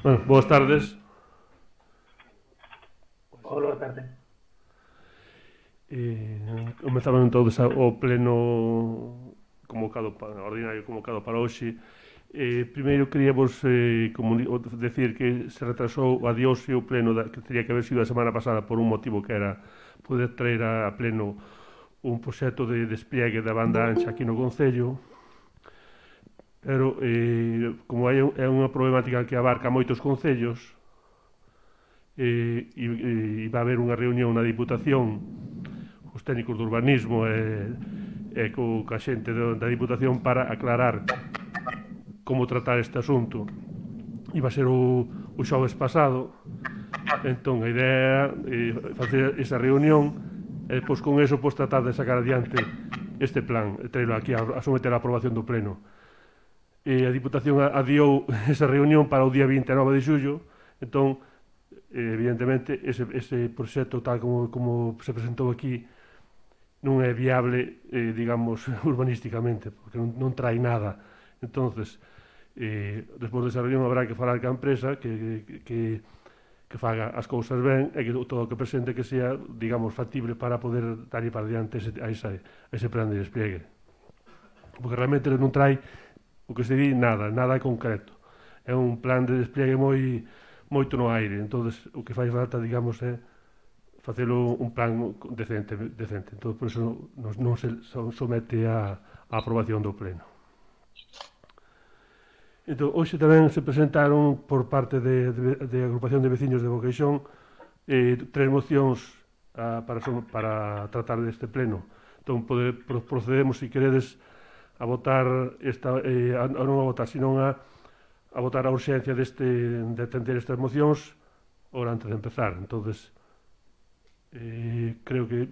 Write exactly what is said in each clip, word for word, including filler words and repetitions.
Bueno, boas tardes. Hola, boa tarde. Eh, comezamos entón o pleno convocado para, ordinario convocado para hoxe. Eh, primeiro queríamos eh, decir que se retrasou, adiouse o pleno da, que teria que haber sido a semana pasada por un motivo que era poder traer a, a pleno un proxecto de despliegue da banda ancha aquí no Concello, pero eh, como hai, é unha problemática que abarca moitos concellos, eh, e, e vai haber unha reunión na Diputación os técnicos do urbanismo e, e co, ca xente da Diputación para aclarar como tratar este asunto. Iba a ser o, o xoves pasado, entón a idea é facer esa reunión e depois con eso pois, tratar de sacar adiante este plan e traerlo aquí a, a someter a aprobación do pleno. E a Diputación adiou esa reunión para o día vinte e nove de xullo, entón evidentemente ese, ese proxecto tal como, como se presentou aquí non é viable, eh, digamos, urbanísticamente, porque non, non trae nada. Entonces, eh, despois desa reunión habrá que falar ca empresa que, que, que faga as cousas ben e que todo o que presente que sea, digamos, factible para poder darlle para diante ese, a, esa, a ese plan de despliegue. Porque realmente non trae o que se di nada, nada concreto. É un plan de despliegue moi moito no aire, entonces o que fai falta, digamos, é facelo un plan decente, decente. Entón, por eso non, non se somete a, a aprobación do pleno. Entón, hoxe tamén se presentaron por parte de, de, de agrupación de veciños de Boqueixón eh, tres mocións a, para, para tratar deste pleno. Entón, pode, procedemos, se si queredes, a votar esta, eh, a, a non a votar, sino a a votar a urxencia deste, de atender estas mocións ora antes de empezar. Entonces, eh, creo que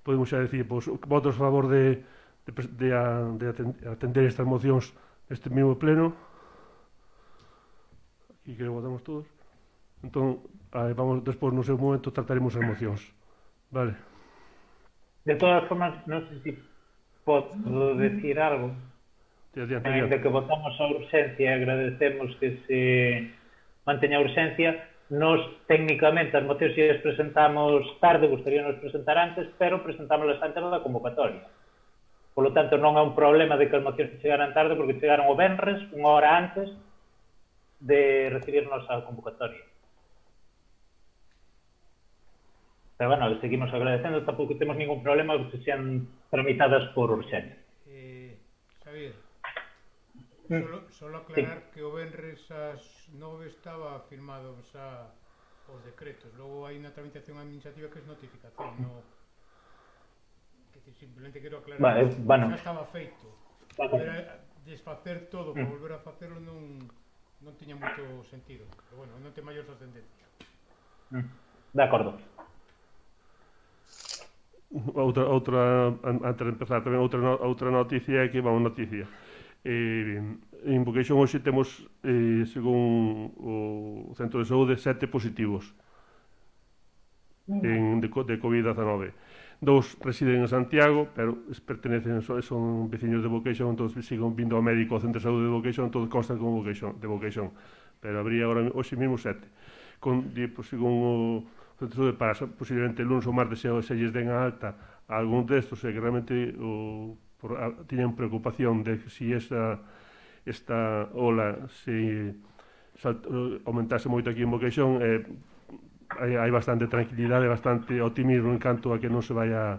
podemos xa decir, pois, votos a favor de, de, de, de atender estas mocións neste mesmo pleno. Aquí creo que votamos todos. Entón, vamos, despois no seu momento trataremos as mocións. Vale. De todas formas, non sei se podo decir algo. Adiante, Ainda que votamos a urxencia e agradecemos que se manteña a urxencia, nos técnicamente as mocións se as presentamos tarde, gustaríamos presentar antes, pero presentámoslas antes da convocatoria. Por lo tanto, non é un problema de que as mocións chegaran tarde, porque chegaron o venres, unha hora antes de recibirnos a convocatoria. Pero, bueno, seguimos agradecendo, tampouco temos ningún problema que se sean tramitadas por urxencia. Eh, Xavier, Solo, solo aclarar sí. Que o venres ás nove estaba firmado xa os decretos. Logo hai unha tramitación administrativa que é notificación, no... que simplemente quero aclarar vale, que bueno. Xa estaba feito. Volver a desfacer todo para volver a facelo non, non tiña moito sentido. Pero bueno, non ten maior trascendencia. De acordo. Outra, outra, antes de empezar, tamén outra, outra noticia é que, vamos, noticia. Eh, en Boqueixón hoxe temos, eh, según o Centro de Saúde, sete positivos en, de, de covid diecinueve. Dous residen en Santiago, pero pertenecen, son veciños de Boqueixón, entón siguen vindo ao médico ao Centro de Saúde de Boqueixón, entón constan como Boqueixón, de Boqueixón. Pero habría agora hoxe mesmo sete. Con, pues, según o Centro de Saúde, para posiblemente el lunes ou martes se, se lles den a alta a algún destos, é que realmente o por, a, tiñan preocupación de que si esa, esta ola se salt, aumentase moito aquí en Boqueixón, eh, hai, hai bastante tranquilidade, bastante optimismo en canto a que non se vaya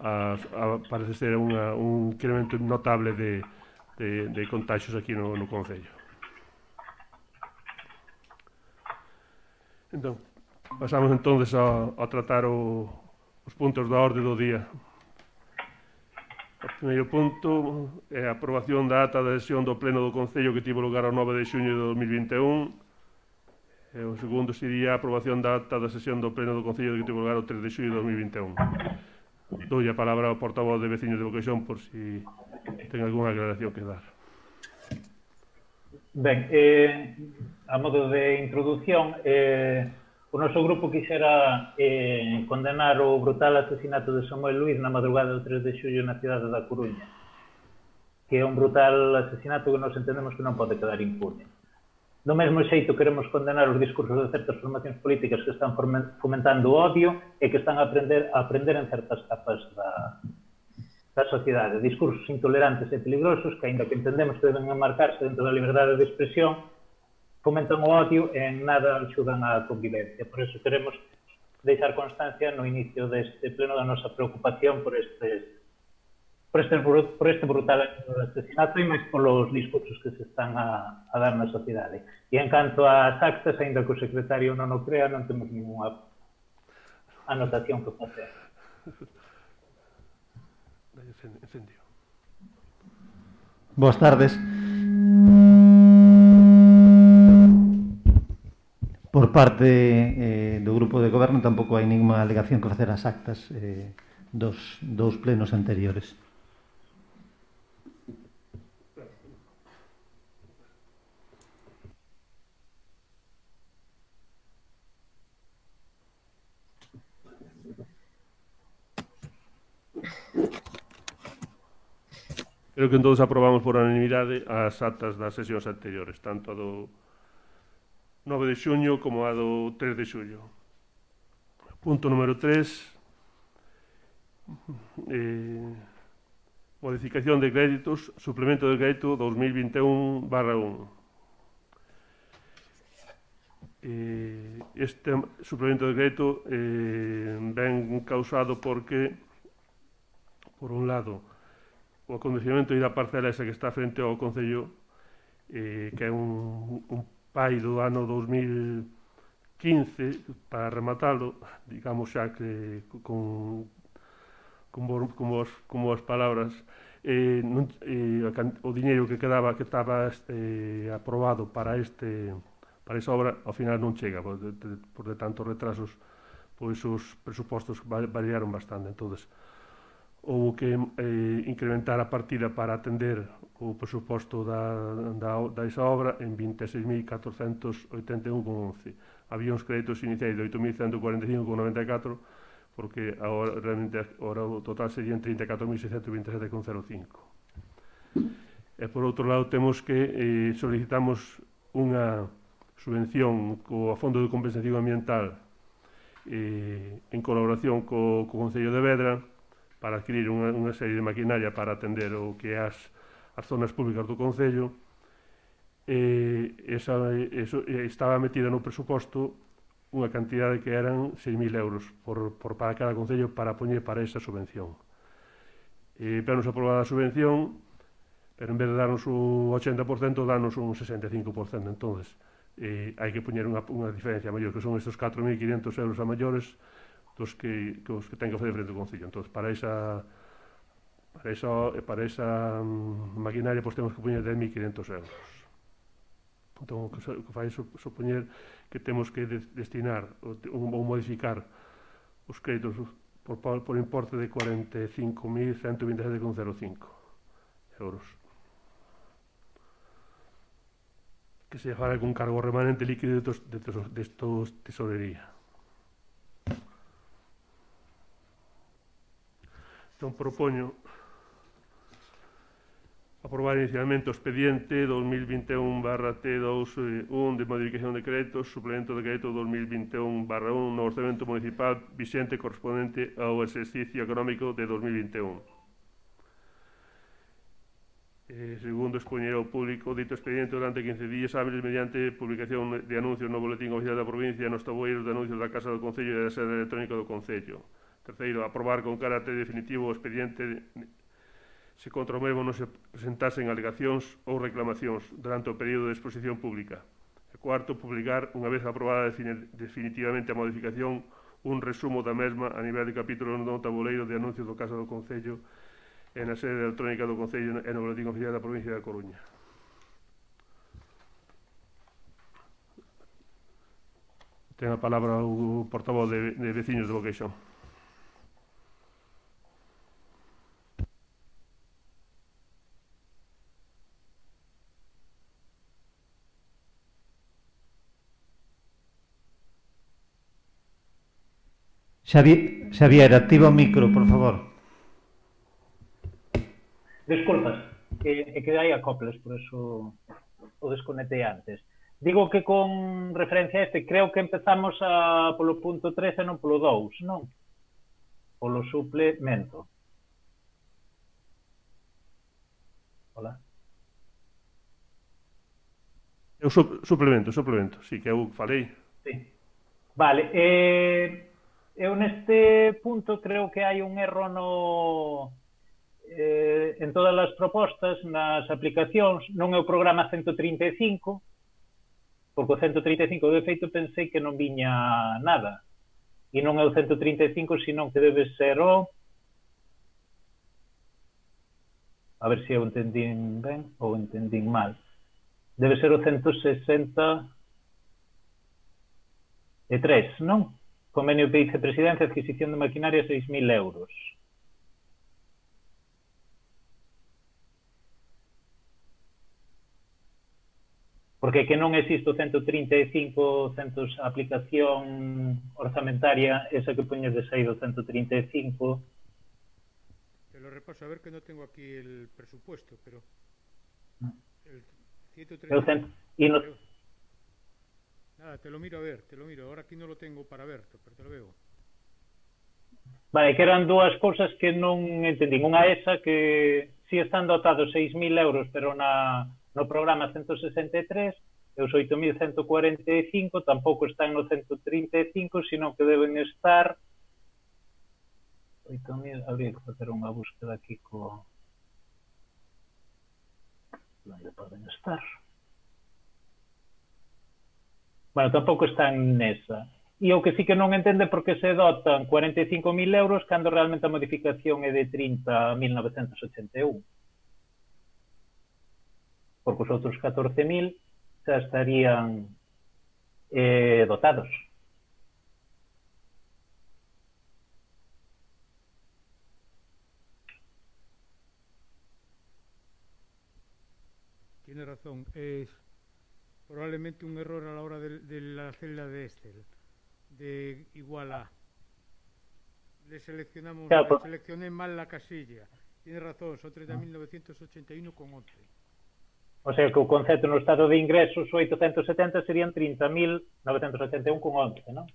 a, a parece ser unha, un incremento notable de, de, de contagios aquí no, no Concello. Entón, pasamos entonces a, a tratar o, os puntos da orde do día. O primeiro punto é a aprobación da ata da sesión do Pleno do Concello que tivo lugar ao nove de xuño de dos mil vinte e un. E o segundo sería a aprobación da ata da sesión do Pleno do Concello que tivo lugar ao tres de xuño de dos mil vinte e un. Dou a palabra ao portavoz de veciños de Boqueixón por si ten algunha aclaración que dar. Ben, eh, a modo de introdución, eh, o noso grupo quixera eh, condenar o brutal asesinato de Samuel Luís na madrugada do tres de xullo na cidade da Coruña, que é un brutal asesinato que nos entendemos que non pode quedar impune. Do mesmo xeito queremos condenar os discursos de certas formacións políticas que están fomentando o odio e que están a aprender, a aprender en certas capas da, da sociedade. Discursos intolerantes e peligrosos que, aínda que entendemos que deben enmarcarse dentro da liberdade de expresión, fomentan o odio e en nada axudan á convivencia. Por eso queremos deixar constancia no inicio deste pleno da nosa preocupación por estes por este, por este brutal asesinato e máis polos discursos que se están a, a dar na sociedade. E en canto ás actas, ainda que o secretario non o crea, non temos ninguna anotación que facer. Boas tardes. Por parte eh, do grupo de goberno tampouco hai ninguna alegación que facer ás actas eh, dos dous plenos anteriores. Creo que entón aprobamos por unanimidade as actas das sesións anteriores, tanto a do nove de xuño como a do tres de xullo. Punto número tres. Eh, modificación de créditos, suplemento de crédito dos mil vinte e un barra un. Eh, este suplemento de crédito eh, ven causado porque, por un lado, o acondicionamento da parcela esa que está frente ao Concello, eh, que é un, un pai do ano dos mil quince, para rematalo, digamos xa que con, con, con, vos, con vos palabras, eh, non, eh, o diñeiro que quedaba, que estaba eh, aprobado para este para esa obra, ao final non chega, por de, de, por de tantos retrasos, pois os presupostos variaron bastante. Entonces, houve que eh, incrementar a partida para atender o presuposto da, da, da esa obra en vinte e seis mil catrocentos oitenta e un coma once. Había uns créditos iniciais de oito mil ciento cuarenta e cinco coma noventa e catro, porque agora, realmente, agora o total serían trinta e catro mil seiscentos vinte e sete coma cero cinco. E por outro lado temos que eh, solicitamos unha subvención co Fondo de Compensación Ambiental eh, en colaboración co, co Concello de Vedra, para adquirir unha, unha serie de maquinaria para atender o que é as, as zonas públicas do Concello. E esa, eso, estaba metida no presuposto unha cantidade que eran seis mil euros por, por para cada Concello para poñer para esa subvención. E para nos aprobar a subvención, pero en vez de darnos o ochenta por cento, danos un sesenta e cinco por cento. Entón, eh, hai que poñer unha, unha diferencia maior, que son estes catro mil quinhentos euros a maiores, dos que, que os que ten que facer frente ao Concello. Entón, para esa para esa, para esa um, maquinaria, pois temos que poñer dez mil quinhentos euros. Entón, o que, o que fai supoñer que temos que de, destinar ou, ou modificar os créditos por, por importe de cuarenta e cinco mil ciento vinte e sete coma cero cinco euros. Que se fará con cargo remanente líquido de, de, de, de estos tesorería. Entón, propoño aprobar inicialmente o expediente dos mil vinte e un barra T dos un de modificación de créditos, suplemento de crédito dos mil vinte e un barra un no orçamento municipal vixente correspondente ao exercicio económico de dos mil vinte e un. Eh, segundo, expoñer ao público dito expediente durante quince días hábiles mediante publicación de anuncios no boletín oficial da provincia e nos tabueiros de anuncios da Casa do Concello e da sede electrónica do Concello. Terceiro, aprobar con carácter definitivo o expediente se contra o mesmo non se presentasen alegacións ou reclamacións durante o período de exposición pública. E cuarto, publicar, unha vez aprobada definitivamente a modificación, un resumo da mesma a nivel de capítulo no tabuleiro de anuncios do Casa do Concello e na sede electrónica do Concello e no boletín oficial da provincia da Coruña. Ten a palabra o portavoz de, de veciños de Boqueixón. Xavier, Xavier, activa o micro, por favor. Desculpas, que, que hai acoples, por eso o desconectei antes. Digo que con referencia a este, creo que empezamos a, polo punto tres e non polo dous, non? Polo suplemento. Hola. É o su suplemento, suplemento, sí, que eu falei. Sí. Vale, eh, eu neste punto creo que hai un erro no... Eh, en todas as propostas, nas aplicacións, non é o programa ciento trinta e cinco, porque o ciento trinta e cinco de feito pensei que non viña nada, e non é o ciento trinta e cinco, senón que debe ser o... A ver se eu entendín ben ou entendín mal. Debe ser o ciento sesenta e tres, non? Convenio de vicepresidencia, adquisición de maquinaria, seis mil euros. Porque que non existe o ciento trinta e cinco, centos aplicación orzamentaria, esa que poñes de sair do ciento trinta e cinco. Te lo repaso, a ver que no tengo aquí el presupuesto, pero... El ciento treinta y cinco... No... Nada, te lo miro a ver, te lo miro. Ahora aquí no lo tengo para ver, pero te lo veo. Vale, que eran dúas cousas que non entendín. Unha esa que si están dotados seis mil euros, pero na... no programa ciento sesenta e tres, e os oito mil ciento cuarenta e cinco tampouco están no ciento trinta e cinco, sino que deben estar oito mil, habría que facer unha búsqueda aquí co... onde poden estar? Bueno, tampouco están nesa. E o que sí que non entende por que se dotan cuarenta e cinco mil euros cando realmente a modificación é de trinta mil novecentos ochenta e un. Porque os outros catorce mil xa estarían eh, dotados. Tiene razón, es probablemente un error a la hora de, de la celda de Excel, de igual a. Le seleccionamos, claro, le seleccioné mal la casilla. Tiene razón, son treinta mil novecientos ochenta y uno con once. O sea que o concepto no estado de ingresos oitocentos setenta serían trinta mil novecentos ochenta e un con once, non?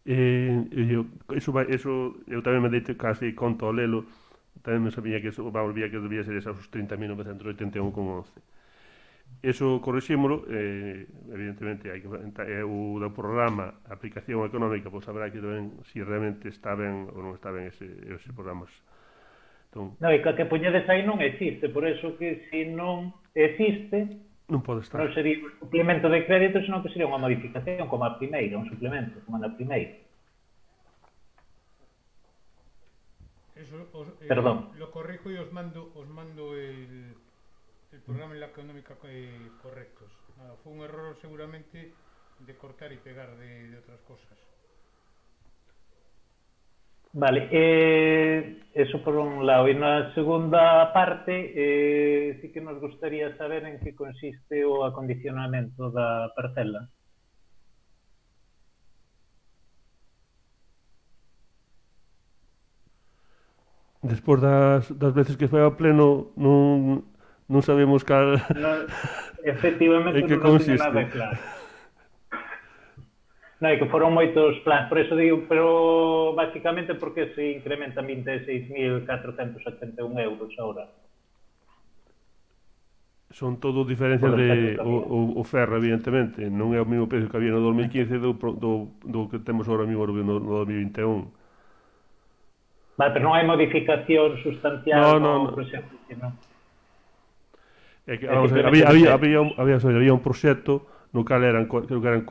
Eh, eu, eso, vai, eso, eu tamén me deite casi conto ao lelo, tamén me sabía que eso, vamos, vía que debía ser esos trinta mil novecentos oitenta e un con once. Eso corrixímolo, eh, evidentemente hai que é o do programa aplicación económica, pois saberá que tamén se si realmente está ben ou non está ben ese, ese programas. Entón, no, e que que poñedes aí non existe, por eso que se non existe non pode estar. Non sería un suplemento de crédito, senón que sería unha modificación como a primeira, un suplemento, como na primeira. Eso os, eh, Perdón. Lo corrijo y os mando, os mando el, el programa en la económica eh, correctos. Nada, fue un error seguramente de cortar y pegar de, de otras cosas. Vale, eh, eso por un lado. E na segunda parte, eh, sí que nos gustaría saber en que consiste o acondicionamento da parcela. Despois das, das veces que foi ao pleno non, non sabemos cal... No, efectivamente en que non consiste. teño nada claro. Non, é que foron moitos plans, por eso digo, pero basicamente porque se incrementan vinte e seis mil catrocentos setenta e un euros agora. Son todo diferencias de o, o, o ferro, evidentemente, non é o mesmo precio que había no dos mil quince do, do, do que temos agora mesmo no, no dos mil vinte e un. Vale, pero non hai modificación sustancial no, no, no. proxecto, non? É que, vamos, había, había, había, un, había, había un proxecto no cal eran, creo que eran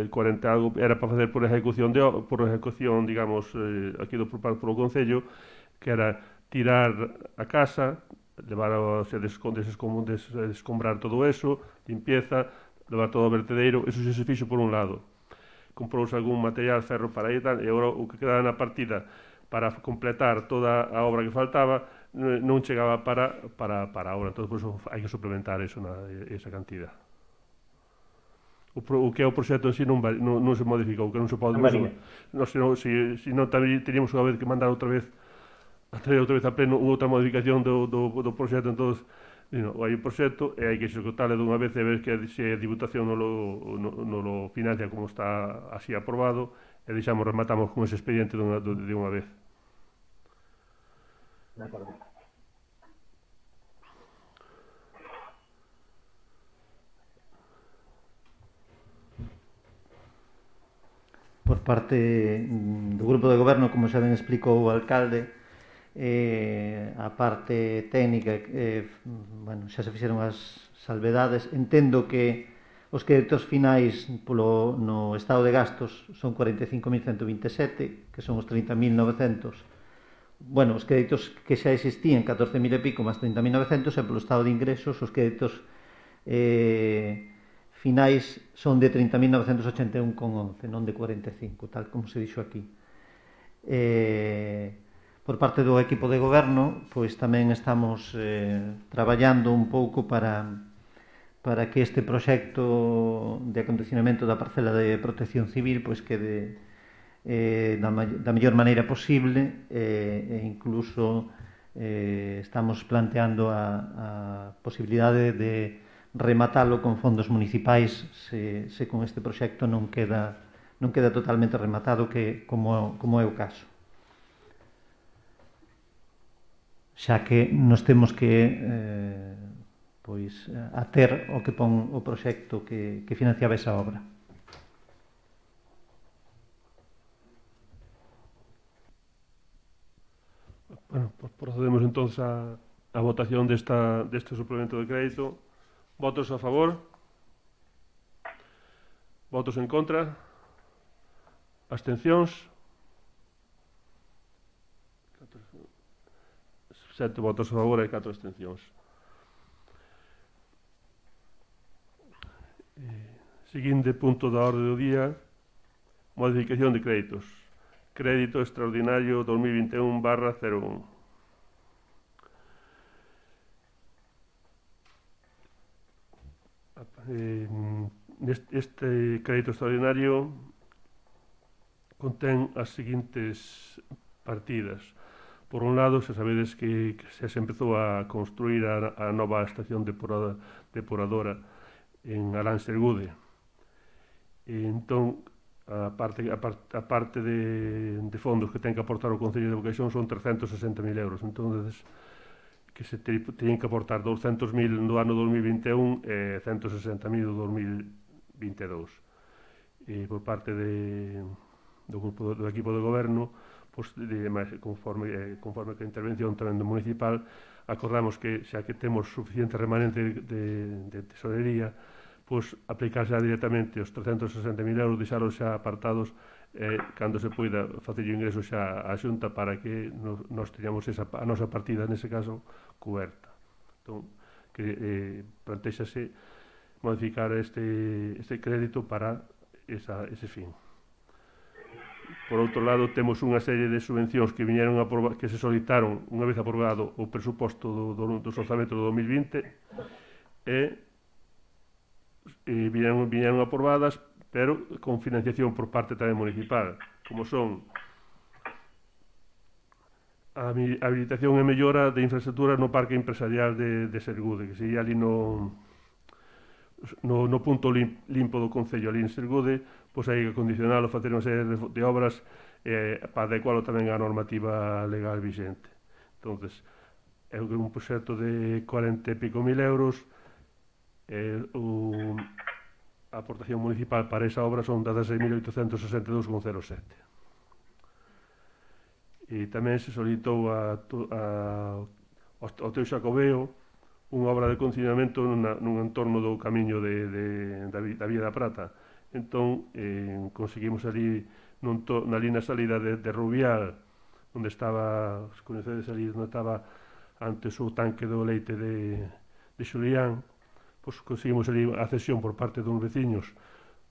cuarenta algo, era para facer por ejecución de por ejecución, digamos, eh, aquí do por polo Concello, que era tirar a casa, levar a, o sea, descom, descom, des, descombrar todo eso, limpieza, levar todo ao vertedereiro, eso se se fixo por un lado. Comprouse algún material, ferro para aí e tal, e agora o que quedaba na partida para completar toda a obra que faltaba non chegaba para, para, para a obra, entón por eso hai que suplementar eso na, esa cantidad. O, pro, o que é o proxecto en si non, non, non se modifica, o que non se pode... Non, non, senón, se, se non tamén teríamos unha vez que mandar outra vez a traer outra vez a pleno outra modificación do, do, do proxecto, entón, no, hai un proxecto e hai que executale dunha vez e ver que se a Diputación non lo, non, non lo financia como está así aprobado e deixamos, rematamos con ese expediente dunha, de unha vez. De acordo. Por parte do grupo de goberno, como xa ben explicou o alcalde, eh, a parte técnica, eh, bueno, xa se fixeron as salvedades. Entendo que os créditos finais polo, no estado de gastos son cuarenta e cinco mil ciento vinte e sete, que son os trinta mil novecentos. Bueno, os créditos que xa existían, catorce mil e pico máis trinta mil novecentos, e polo estado de ingresos os créditos eh, finais son de trinta mil novecentos ochenta e un coma once, non de cuarenta e cinco, tal como se dixo aquí. Eh, por parte do equipo de goberno, pois tamén estamos eh, traballando un pouco para, para que este proxecto de acondicionamento da parcela de protección civil pois quede eh, da, da mellor maneira posible eh, e incluso eh, estamos planteando a, a posibilidade de rematalo con fondos municipais se, se con este proxecto non queda, non queda totalmente rematado, que como, como é o caso. Xa que nos temos que eh, pois, ater o que pon o proxecto que, que financiaba esa obra. Bueno, pues procedemos entonces a, a votación desta, deste suplemento de crédito. Votos a favor? Votos en contra? Abstencións? Sete votos a favor e catro abstencións. Seguinte punto da orde do día: modificación de créditos. Crédito extraordinario dos mil vinte e un barra cero un. Eh, este crédito extraordinario contén as seguintes partidas. Por un lado, se sabedes que, que se empezou a construir a, a nova estación depurada, depuradora en Arán Sergude. E entón, a parte, a parte, a parte de, de fondos que ten que aportar o Concello de Boqueixón son trescentos sesenta mil euros. Entón, que se teñen que aportar douscentos mil no ano dos mil vinte e un e ciento sesenta mil no dos mil vinte e dous. E por parte de, do grupo do equipo de goberno, pues, de, conforme, eh, conforme que a intervención tamén do municipal, acordamos que xa que temos suficiente remanente de, de tesorería, pues, aplicar xa directamente os trescentos sesenta mil euros, deixaros xa apartados eh, cando se poida facer o ingreso xa á xunta para que nos, nos teñamos esa, a nosa partida nese caso coberta. Entón, que eh, plantexase modificar este, este crédito para esa, ese fin. Por outro lado, temos unha serie de subvencións que viñeron a aprobar, que se solicitaron unha vez aprobado o presuposto do, do, dos orzamentos do dos mil vinte e, e viñeron, viñeron aprobadas, pero con financiación por parte tamén municipal, como son a habilitación e mellora de infraestructuras no parque empresarial de, de Sergude, que sería ali no no, no punto lim, limpo do Concello ali en Sergude, pois hai que acondicionalo, facer unha serie de, de obras eh, para adecualo tamén á normativa legal vigente. Entonces, é un proxecto de cuarenta e pico mil euros, eh, o, a aportación municipal para esa obra son dezasseis mil oitocentos sesenta e dous coma cero sete. E tamén se solicitou a, a, ao teu Xacobeo unha obra de condicionamento nunha, nun entorno do camiño de, de, da, da Vía da Prata. Entón, eh, conseguimos ali nun to, na linha salida de, de Rubial, onde estaba, os coñecedes ali, onde estaba antes o tanque do leite de, de Xulián, pois conseguimos ali a cesión por parte dos veciños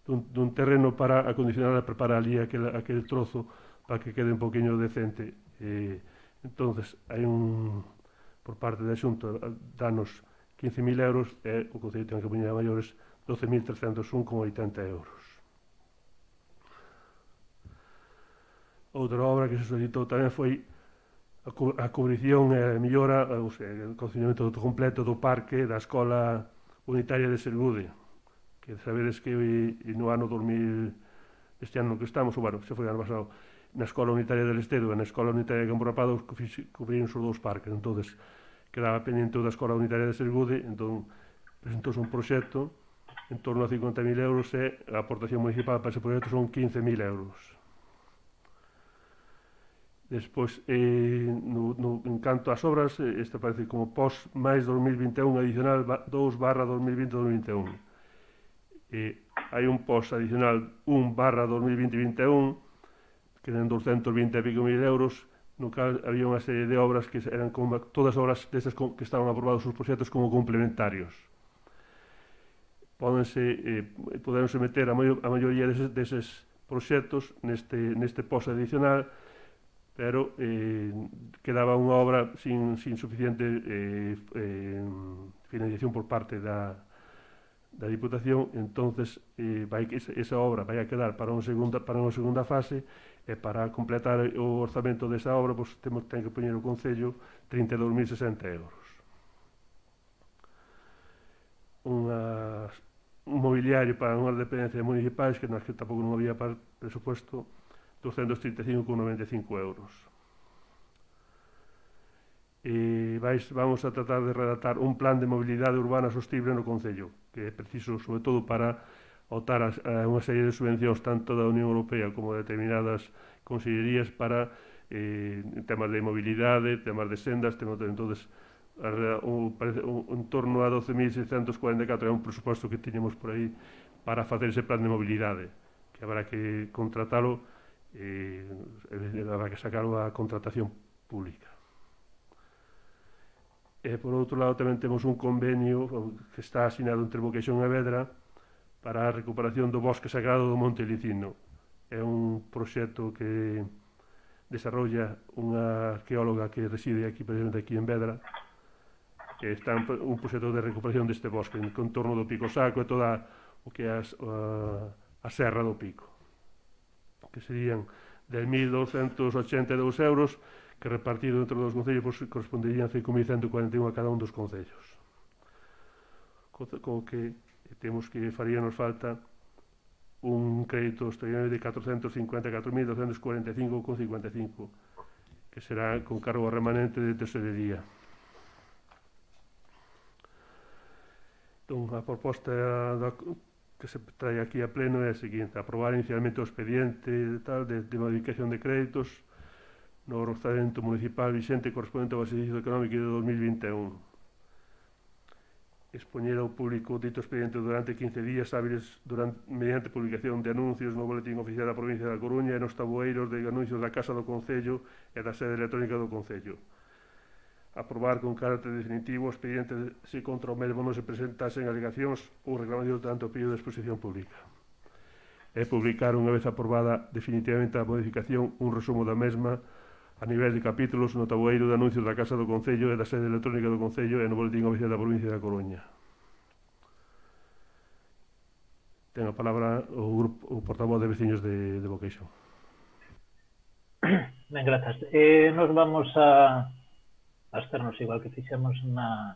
dun, dun terreno para acondicionar e preparar ali aquel, aquel trozo para que quede un poquinho decente. Eh, entonces, hai un... por parte da Xunta danos quince mil euros e o Concello ten que poñer a maiores doce mil trescentos un coma oitenta euros. Outra obra que se solicitou tamén foi a, co a cubrición e a mellora, o sea, o condicionamento completo do parque da Escola Unitaria de Sergude, que sabedes que no ano dos mil, este ano que estamos, ou bueno, se foi ano pasado, na Escola Unitaria del Estedo e na Escola Unitaria de Campo Rapado cubriron os dous parques. Entonces, quedaba pendiente da Escola Unitaria de Sergude, entón presentouse un proxecto en torno a cincuenta mil euros e a aportación municipal para ese proxecto son quince mil euros. Despois, eh, no, no, en canto ás obras, este parece como pos máis dos mil vinte e un adicional dous barra dos mil vinte a dos mil vinte e un. Eh, hai un pos adicional un barra dos mil vinte vinte e un, que eran doscientos vinte e pico mil euros, no cal había unha serie de obras que eran como todas as obras destas que estaban aprobados os proxectos como complementarios. Pódense, eh, podense meter a, maio, a maioría deses, deses proxectos neste, neste post adicional, pero eh, quedaba unha obra sin, sin suficiente eh, eh, financiación por parte da, da Diputación. Entonces eh, vai, esa, esa obra vai a quedar para unha segunda, para unha segunda fase, e para completar o orzamento desa obra pois, temos, ten que poñer o Concello trinta e dous mil sesenta euros. Unha, un mobiliario para unhas dependencias municipais que nas que tampouco non había para presupuesto doscientos trinta e cinco coma noventa e cinco euros. E vais, vamos a tratar de redactar un plan de mobilidade urbana sostible no Concello, que é preciso, sobre todo, para optar a, a unha serie de subvencións tanto da Unión Europea como de determinadas consellerías para eh, temas de mobilidade, temas de sendas, temas de, entonces, un, un, un torno a doce mil seiscentos cuarenta e catro é un presuposto que tiñemos por aí para facer ese plan de mobilidade, que habrá que contratalo, eh, habrá que sacarlo a contratación pública. E, por outro lado, tamén temos un convenio que está asinado entre Boqueixón e Vedra para a recuperación do bosque sagrado do Monte Licino. É un proxecto que desarrolla unha arqueóloga que reside aquí, precisamente aquí en Vedra, que está un proxecto de recuperación deste bosque, en contorno do Pico Saco e toda o que é a, a serra do Pico, que serían de mil douscentos ochenta e dous euros, que repartido entre os concellos pues, corresponderían cinco mil ciento cuarenta e un a cada un dos concellos. Co, co que temos que faríanos falta un crédito extraordinario de catrocentos cincuenta e catro mil doscientos cuarenta e cinco coma cincuenta e cinco, que será con cargo remanente de tesorería. Entón, a proposta da, que se trae aquí a pleno é a seguinte: aprobar inicialmente o expediente de, tal, de, de modificación de créditos no orzamento municipal vigente correspondente ao exercicio económico de dos mil vinte e un. Expoñer ao público dito expediente durante quince días hábiles durante, mediante publicación de anuncios no boletín oficial da provincia da Coruña e nos tabueiros de anuncios da Casa do Concello e da sede electrónica do Concello. Aprobar con carácter definitivo o expediente se contra o mesmo non se presentasen alegacións ou reclamacións durante o período de exposición pública. E publicar, unha vez aprobada definitivamente a modificación, un resumo da mesma a nivel de capítulos no tabueiro de anuncios da Casa do Concello e da sede electrónica do Concello e no boletín oficial da provincia da Coruña. Ten a palabra o, grupo, o portavoz de veciños de, de Boqueixón. Ben, grazas. Eh, nos vamos a absternos igual que fixemos na,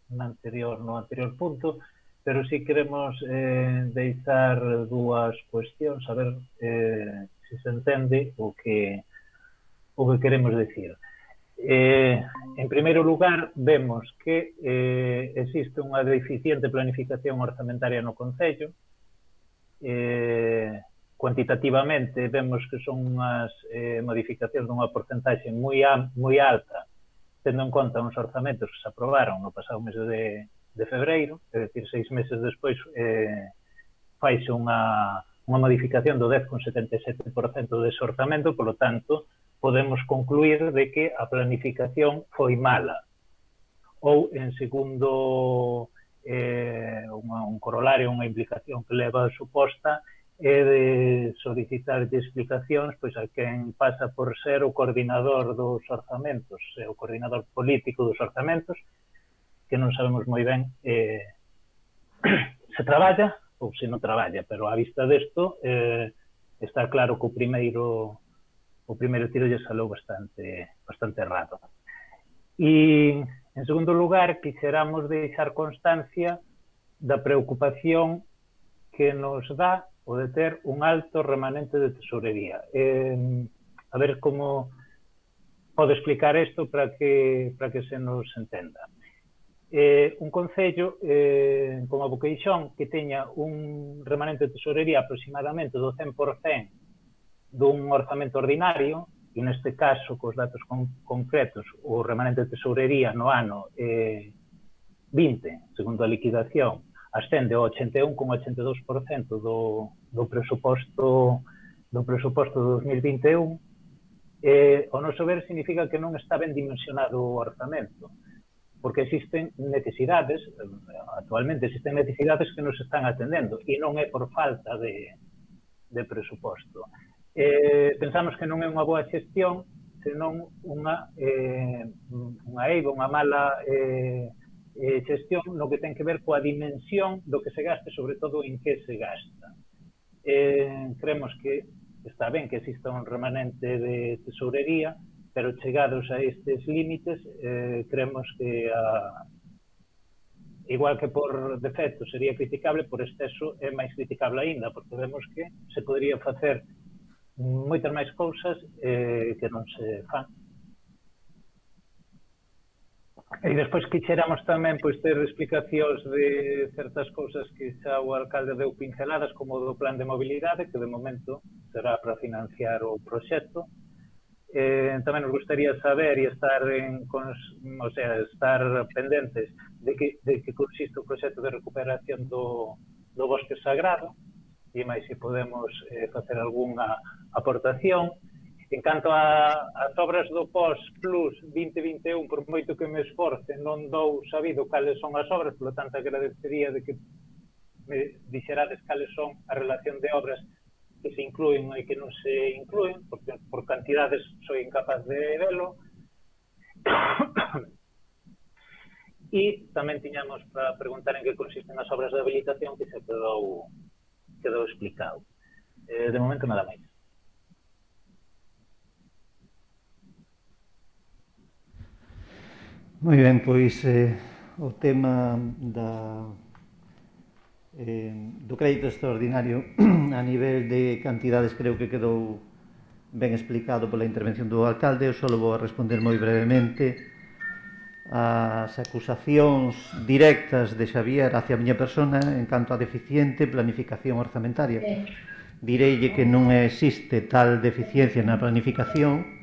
na anterior, no anterior punto. pero sí queremos eh, deixar dúas cuestións, a ver eh, se se entende o que, o que queremos decir. Eh, en primeiro lugar, vemos que eh, existe unha deficiente planificación orzamentaria no Concello. Eh, cuantitativamente vemos que son unhas eh, modificacións dunha porcentaxe moi, moi alta, tendo en conta uns orzamentos que se aprobaron no pasado mes de, de febreiro, é dicir, seis meses despois eh, faise unha, unha modificación do dez vírgula setenta e sete por cento dese orzamento, polo tanto, podemos concluir de que a planificación foi mala. Ou, en segundo, eh, unha, un corolario, unha implicación que leva a suposta, é de solicitar de explicacións pois a quen pasa por ser o coordinador dos orzamentos, o coordinador político dos orzamentos, que non sabemos moi ben eh, se traballa ou se non traballa, pero á vista desto eh, está claro que o primeiro o primeiro tiro lle salou bastante, bastante errado. E, en segundo lugar, quixeramos deixar constancia da preocupación que nos dá o de ter un alto remanente de tesorería. Eh, a ver como pode explicar isto para que, para que se nos entenda. Eh, un concello eh, como a Boqueixón que teña un remanente de tesorería aproximadamente do cen por cento dun orzamento ordinario, e neste caso, cos datos con, concretos, o remanente de tesorería no ano eh, vinte, segundo a liquidación, ascende ao ochenta e un vírgula ochenta e dous por cento do, do presuposto do presuposto de dos mil vinte e un, eh, o noso ver significa que non está ben dimensionado o orzamento, porque existen necesidades, actualmente existen necesidades que nos están atendendo, e non é por falta de, de presuposto. Eh, pensamos que non é unha boa xestión, senón unha, eh, unha eiva, unha mala eh, eh, xestión no que ten que ver coa dimensión do que se gaste, sobre todo en que se gasta. Eh, creemos que está ben que exista un remanente de tesourería, pero chegados a estes límites, eh, creemos que a, igual que por defecto sería criticable, por exceso é máis criticable aínda, porque vemos que se podría facer moitas máis cousas eh, que non se fan. E despois quixéramos tamén pois, ter explicacións de certas cousas que xa o alcalde deu pinceladas, como do plan de mobilidade, que de momento será para financiar o proxecto. Eh, tamén nos gustaría saber e estar en, cons, o sea, estar pendentes de que, de que consiste o proxecto de recuperación do, do bosque sagrado, e máis se podemos eh, facer algunha aportación. En canto a, as obras do P O S Plus vinte vinte e un, por moito que me esforce, non dou sabido cales son as obras, por lo tanto agradecería de que me dixerades cales son a relación de obras que se incluen e que non se incluen, porque por cantidades soy incapaz de velo. E tamén tiñamos para preguntar en que consisten as obras de habilitación, que se quedou, quedou explicado. Eh, de momento nada máis. Moi ben, pois eh, o tema da, eh, do crédito extraordinario a nivel de cantidades creo que quedou ben explicado pola intervención do alcalde. Eu só vou a responder moi brevemente as acusacións directas de Xavier hacia a miña persona en canto a deficiente planificación orzamentaria. Direille que non existe tal deficiencia na planificación,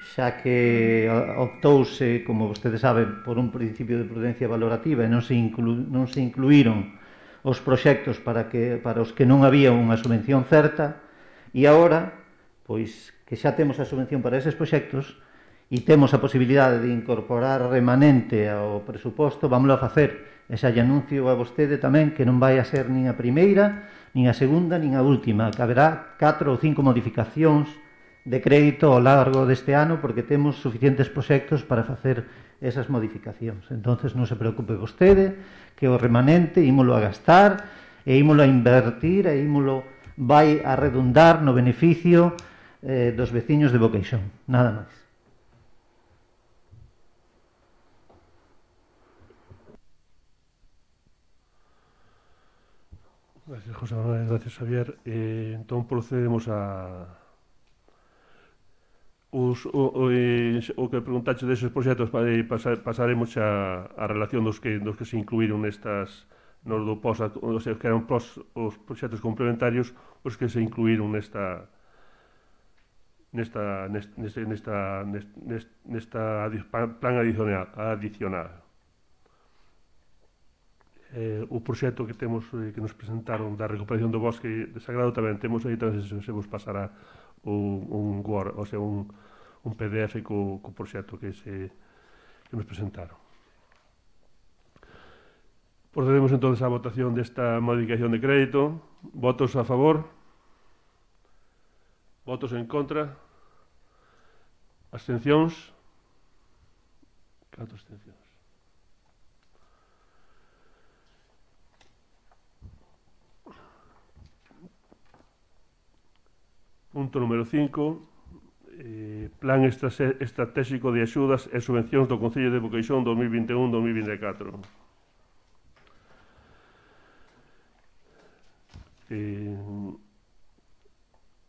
xa que optouse, como vostedes saben, por un principio de prudencia valorativa e non se, inclu, non se incluíron os proxectos para, que, para os que non había unha subvención certa, e agora, pois, que xa temos a subvención para eses proxectos e temos a posibilidade de incorporar remanente ao presuposto, vámoslo a facer. E xa lle anuncio a vostede tamén que non vai a ser nin a primeira, nin a segunda, nin a última, que haberá catro ou cinco modificacións de crédito ao largo deste ano, porque temos suficientes proxectos para facer esas modificacións. Entonces non se preocupe vostede, que o remanente ímolo a gastar e ímolo a invertir e ímolo vai a redundar no beneficio eh, dos veciños de Boqueixón. Nada máis. Gracias, José Manuel. Gracias, Xavier. Eh, entón, procedemos a... Os, o, o, eh, o que preguntaxe deses proxectos eh, pasar, pasaremos a, a relación dos que, dos que se incluíron nestas nos do pos, o sea, que eran pros, os proxectos complementarios os que se incluíron nesta nesta nesta nesta, nesta, nesta plan adicional, adicional. Eh, o proxecto que temos eh, que nos presentaron da recuperación do bosque sagrado tamén temos aí, tamén se, se vos pasará un, un Word, o sea, un, un P D F co, co proxecto que, se, que nos presentaron. Procedemos entón á votación desta modificación de crédito. Votos a favor? Votos en contra? Abstencións? Catro abstencións. Punto número cinco, eh, Plan Estratégico de Axudas e Subvencións do Concello de Boqueixón dos mil vinte e un a dos mil vinte e catro. Eh,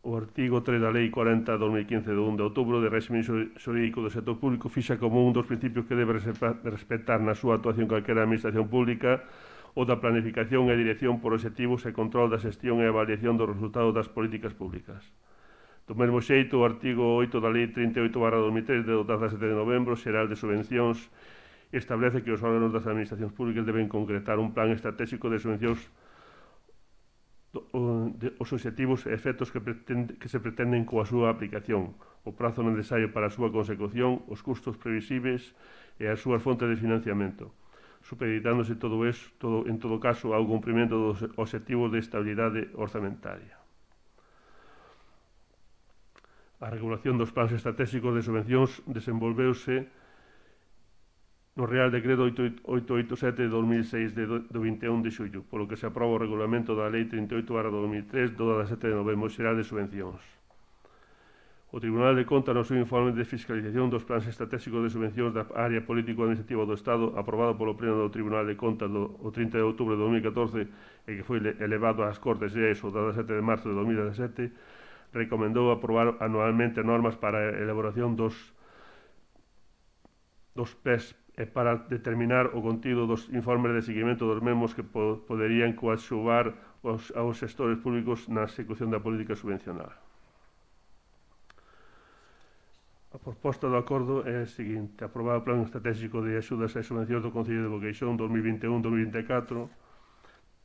o artigo tres da Lei cuarenta barra dos mil quince do un de outubro de réxime xurídico do sector público fixa como un dos principios que debe respetar na súa actuación calquera administración pública o da planificación e dirección por obxectivos e control da xestión e avaliación dos resultados das políticas públicas. Do mesmo xeito, o artigo oito da Lei trinta e oito barra dos mil tres de dezasete de novembro xeral de subvencións establece que os órganos das administracións públicas deben concretar un plan estratégico de subvencións os obxectivos e efectos que, pretende, que se pretenden coa súa aplicación, o prazo necesario para a súa consecución, os custos previsibles e as súas fontes de financiamento, supeditándose todo eso, todo, en todo caso ao cumprimento dos obxectivos de estabilidade orzamentaria. A regulación dos plans estratégicos de subvencións desenvolveuse no Real Decreto oitocentos oitenta e sete de dos mil seis de do vinte e un de xullo, polo que se aproba o regulamento da Lei trinta e oito barra dos mil tres do dezasete de novembro xeral de subvencións. O Tribunal de Contas no seu informe de fiscalización dos plans estratégicos de subvencións da área político-administrativa do Estado aprobado polo Pleno do Tribunal de Contas do o trinta de outubro de dos mil catorce e que foi elevado ás Cortes Xerais o dezasete de marzo de dos mil dezasete, recomendou aprobar anualmente normas para a elaboración dos dos P E S e para determinar o contido dos informes de seguimento dos mesmos que po poderían coaxuvar aos, aos xestores públicos na execución da política subvencional. A proposta do acordo é a seguinte: aprobar o Plan Estratégico de Axudas e Subvencións do Concello de Boqueixón dos mil vinte e un a dos mil vinte e catro,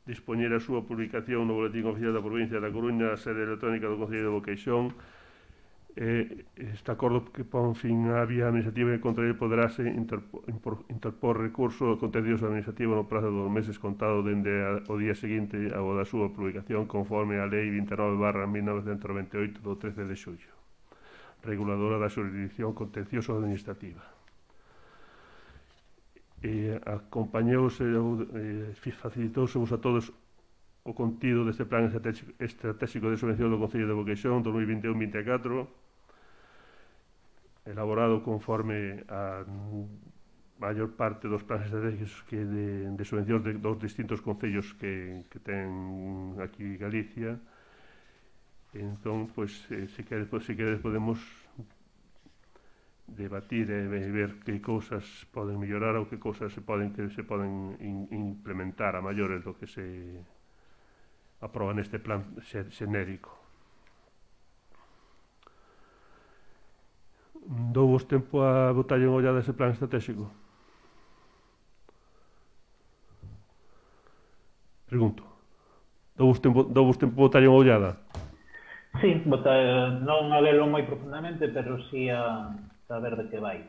dispoñer a súa publicación no Boletín Oficial da Provincia da Coruña, a sede electrónica do Concello de Boqueixón. Eh, este acordo que pon fin á vía administrativa e contra ele poderase interpor, interpor recurso contencioso administrativo no prazo dos meses contado dende o día seguinte ao da súa publicación conforme a Lei vinte e nove barra mil novecentos noventa e oito do trece de xullo, reguladora da xurisdicción contencioso administrativa. E acompañouse e facilitouse a todos o contido deste plan estratégico de subvención do Concello de Boqueixón dos mil vinte e un a dos mil vinte e catro, elaborado conforme a maior parte dos plans estratégicos que de, de subvencións de, dos distintos concellos que, que ten aquí Galicia. Entón, pois, eh, se queres, pois, se queres podemos debatir e ver que cousas poden mellorar ou que cousas se poden que se poden in, implementar a maiores do que se aproba neste plan xenérico. Douvos tempo a botarlle unha ollada ese plan estratégico? Pregunto. Douvos tempo, douvos tempo a botarlle unha ollada? Sí, bota, non a lelo moi profundamente, pero sí a saber de que vai.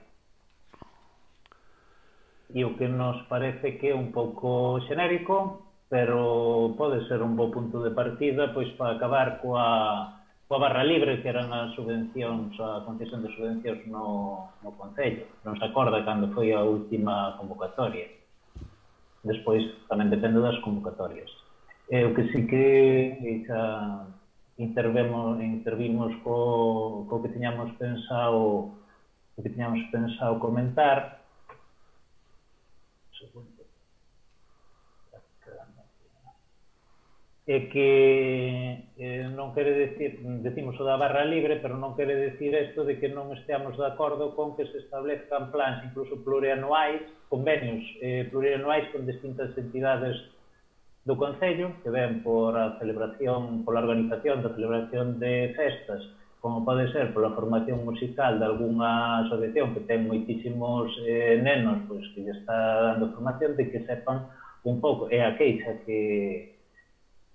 E o que nos parece que é un pouco xenérico, pero pode ser un bo punto de partida pois para acabar coa, coa barra libre que eran as subvencións, a concesión de subvencións no, no Concello. Non se acorda cando foi a última convocatoria. Despois tamén depende das convocatorias. E o que sí que xa intervemos, intervimos co, co que tiñamos pensado o que tiñamos pensado comentar. Segundo. e que eh, non quere decir, decimos o da barra libre, pero non quere decir isto de que non esteamos de acordo con que se establezcan plans incluso plurianuais, convenios eh, plurianuais con distintas entidades do Concello, que ven por a celebración, pola organización da celebración de festas, como pode ser pola formación musical de algunha asociación que ten moitísimos eh, nenos, pois que lle está dando formación, de que sepan un pouco, é a queixa que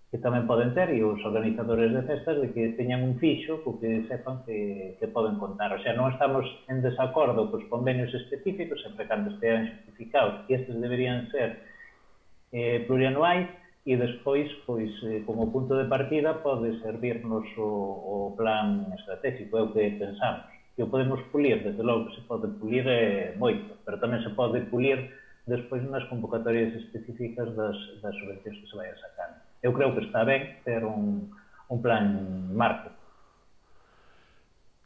que tamén poden ter, e os organizadores de festas, de que teñan un fixo co que sepan que, que poden contar. O sea, non estamos en desacordo cos convenios específicos, sempre cando estean justificados, e estes deberían ser eh, plurianuais, e despois, pois, eh, como punto de partida, pode servirnos o, o plan estratégico, é o que pensamos. Que o podemos pulir, desde logo que se pode pulir eh, moito, pero tamén se pode pulir despois nas convocatorias específicas das, das subvencións que se vayan sacando. Eu creo que está ben ter un, un plan marco.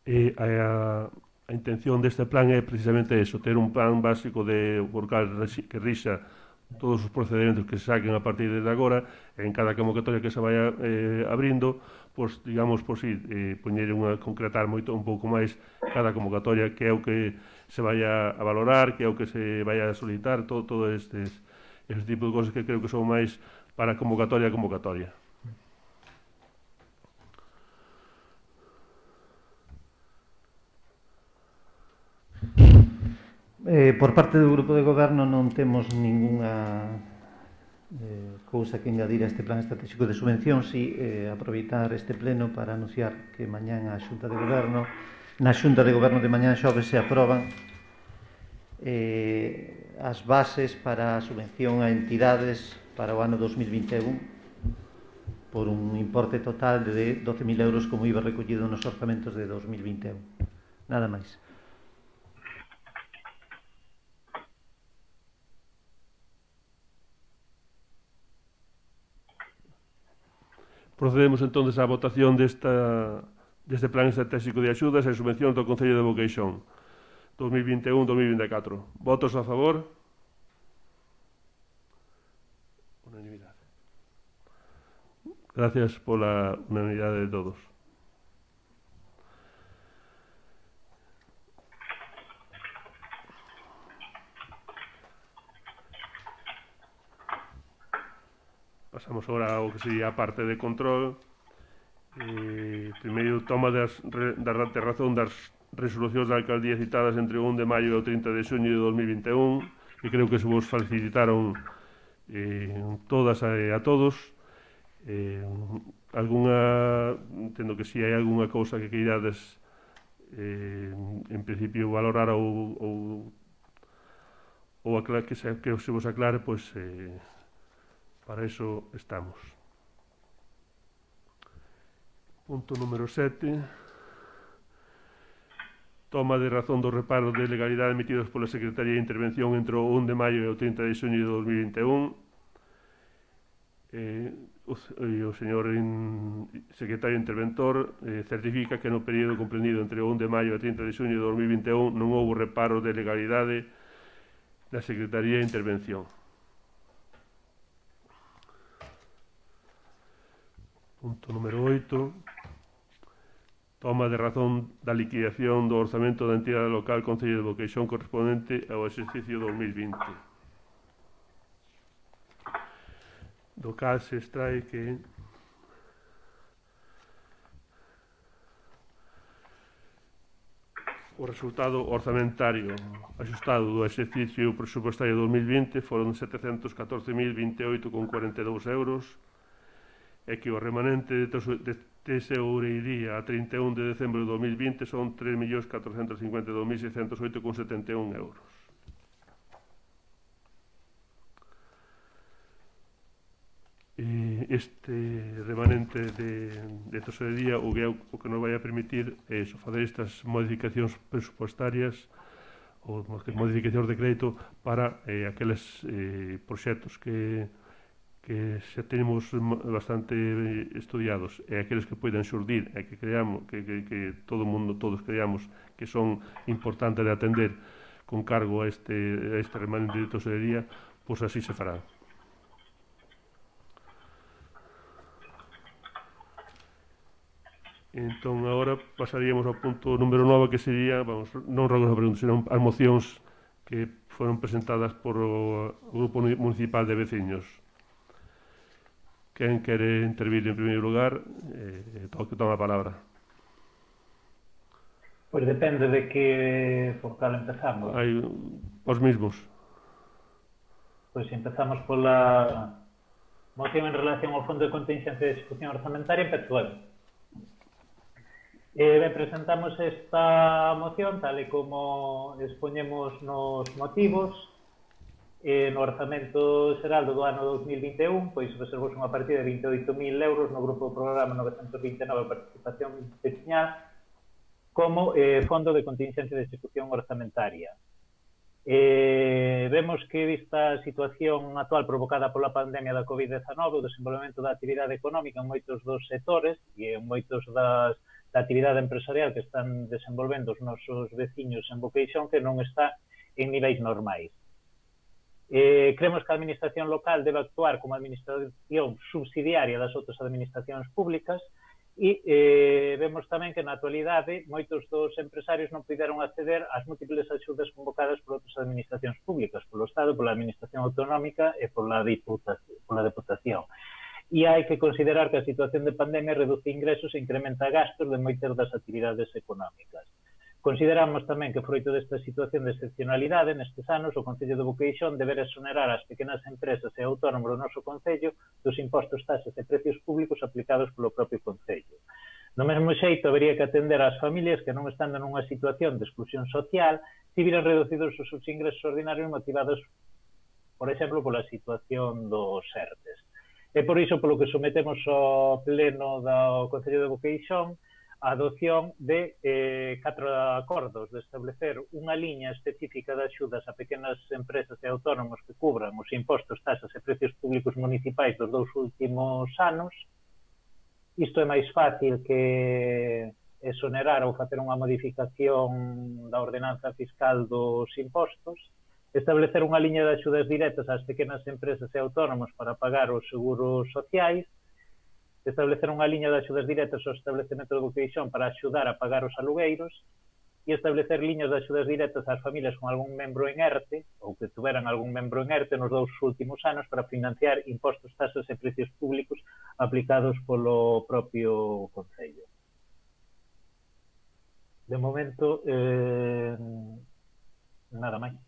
E a, a intención deste plan é precisamente eso, ter un plan básico de por cal que rixa todos os procedementos que se saquen a partir de agora, en cada convocatoria que se vaya eh, abrindo, pois, digamos, pois, sí, eh, poñer unha, concretar moito un pouco máis cada convocatoria, que é o que se vaya a valorar, que é o que se vaya a solicitar, todo, todo estes, este tipo de cosas que creo que son máis para convocatoria a convocatoria. Eh, por parte do Grupo de Goberno non temos ningunha eh, cousa que engadir a este plan estratégico de subvención, si eh, aproveitar este pleno para anunciar que mañán a Xunta de Goberno, na Xunta de Goberno de mañán xoves se aproban eh, as bases para a subvención a entidades para o ano dos mil vinte e un por un importe total de doce mil euros como iba recollido nos orzamentos de dos mil vinte e un. Nada máis. Procedemos entonces á votación desta, deste plan estratégico de axudas e subvencións do Concello de Boqueixón dos mil vinte e un a dos mil vinte e catro. Votos a favor? Unanimidade. Gracias pola unanimidade de todos. Pasamos agora ao que sería a parte de control. Eh, primeiro, toma das, da, de razón das resolucións da alcaldía citadas entre o un de maio e o trinta de xuño de dos mil vinte e un, que creo que se vos facilitaron eh, todas a, a todos. Eh, alguna, entendo que si hai alguna cousa que queirades eh, en principio valorar ou, ou, ou aclar, que, se, que se vos aclare, pois eh, para eso estamos. Punto número sete. Toma de razón dos reparos de legalidade emitidos pola Secretaría de Intervención entre o un de maio e o trinta de xuño de dos mil vinte e un. Eh, o, o señor in, secretario interventor eh, certifica que no período comprendido entre o un de maio e o trinta de xuño de dos mil vinte e un non houbo reparos de legalidade da Secretaría de Intervención. Punto número oito. Toma de razón da liquidación do orzamento da entidade local Concello de Boqueixón correspondente ao exercicio dos mil vinte. Do cal se extrae que o resultado orzamentario axustado do exercicio presupuestario dos mil vinte foron setecentos catorce mil vinte e oito con cuarenta e dous euros e que o remanente de tesourería a trinta e un de decembro de dos mil vinte son tres millóns catrocentos cincuenta e dous mil seiscentos oito con setenta e un euros. Este remanente de, de tesorería o que, o que nos vai a permitir é eso, fazer estas modificacións presupuestarias ou modificacións de crédito para eh, aqueles eh, proxectos que, que xa tenemos bastante estudiados e aqueles que poidan xurdir e que creamos que, que, que todo o mundo, todos creamos que son importantes de atender con cargo a este, a este remanente de tesorería, pois así se farán. Entón, agora pasaríamos ao punto número nove, que sería, vamos, non recordo a pregunta, senón as mocións que foron presentadas por o Grupo Municipal de Veciños. Quen quere intervir en primeiro lugar, eh, toque toma a palabra. Pois depende de que por cal empezamos. Hai os mismos. Pois empezamos pola moción en relación ao Fondo de Contingencia de Execución Orzamentaria, empezo eu. Eh, ben, presentamos esta moción tal e como expoñemos nos motivos. Eh, no orzamento xeral do ano dos mil vinte e un, pois reservouse unha partida de vinte e oito mil euros no grupo do programa novecentos vinte e nove Participación Veciñal como eh, Fondo de Contingencia de Execución Orzamentaria. Eh, vemos que, vista a situación actual provocada pola pandemia da COVID dezenove, o desenvolvemento da actividade económica en moitos dos sectores e en moitos das da actividade empresarial que están desenvolvendo os nosos veciños en Boqueixón, que non está en niveis normais. Eh, creemos que a administración local debe actuar como administración subsidiaria das outras administracións públicas e eh, vemos tamén que na actualidade moitos dos empresarios non puderon acceder ás múltiples axudas convocadas por outras administracións públicas, polo Estado, pola Administración Autonómica e pola Diputación. Pola Diputación. E hai que considerar que a situación de pandemia reduce ingresos e incrementa gastos de moitas das actividades económicas. Consideramos tamén que, froito desta situación de excepcionalidade, nestes anos, o Concello de Boqueixón deberá exonerar as pequenas empresas e autónomos do noso Concello dos impostos, taxas e precios públicos aplicados polo propio Concello. Do mesmo xeito, habería que atender ás familias que non están nunha situación de exclusión social se viran reducidos os seus ingresos ordinarios motivados, por exemplo, pola situación dos ERTES. E por iso, polo que sometemos ao pleno do Concello de Boqueixón, a adopción de eh, catro acordos de establecer unha liña específica de axudas a pequenas empresas e autónomos que cubran os impostos, taxas e precios públicos municipais dos dous últimos anos. Isto é máis fácil que exonerar ou facer unha modificación da ordenanza fiscal dos impostos. Establecer unha liña de axudas directas ás pequenas empresas e autónomos para pagar os seguros sociais, establecer unha liña de axudas directas ao establecemento de Boqueixón para axudar a pagar os alugueiros e establecer liñas de axudas directas ás familias con algún membro en ERTE ou que tuveran algún membro en ERTE nos dous últimos anos para financiar impostos, taxas e precios públicos aplicados polo propio Concello. De momento, eh, nada máis.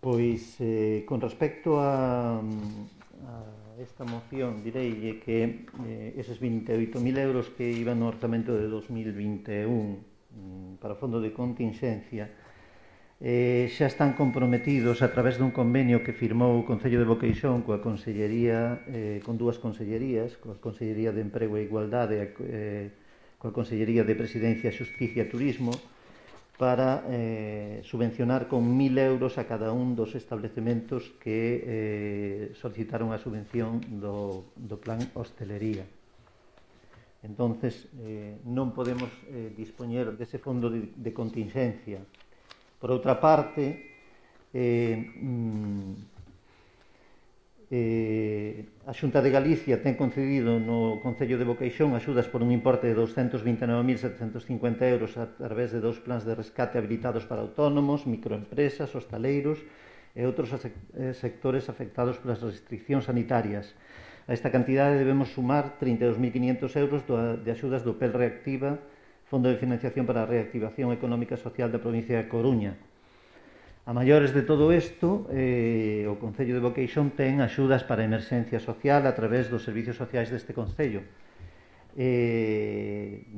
Pois, eh, con respecto a, a esta moción, direille que eh, eses vinte e oito mil euros que iban no orzamento de dos mil vinte e un mm, para o Fondo de Contingencia eh, xa están comprometidos a través dun convenio que firmou o Concello de Boqueixón coa Consellería, eh, con dúas consellerías, coa Consellería de Emprego e Igualdade e eh, coa Consellería de Presidencia, Xusticia e Turismo, para eh, subvencionar con mil euros a cada un dos establecementos que eh, solicitaron a subvención do, do plan hostelería. Entonces, eh, non podemos eh, dispoñer dese fondo de, de contingencia. Por outra parte, eh, mm, eh, a Xunta de Galicia ten concedido no Concello de Boqueixón axudas por un importe de doscientos vinte e nove mil setecentos cincuenta euros a través de dous plans de rescate habilitados para autónomos, microempresas, hostaleiros e outros sectores afectados polas restriccións sanitarias. A esta cantidade debemos sumar trinta e dous mil quinhentos euros de axudas do P E L Reactiva, Fondo de Financiación para a Reactivación Económica e Social da provincia de Coruña. A maiores de todo isto, eh, o Concello de Boqueixón ten axudas para a emerxencia social a través dos servicios sociais deste Concello. Eh,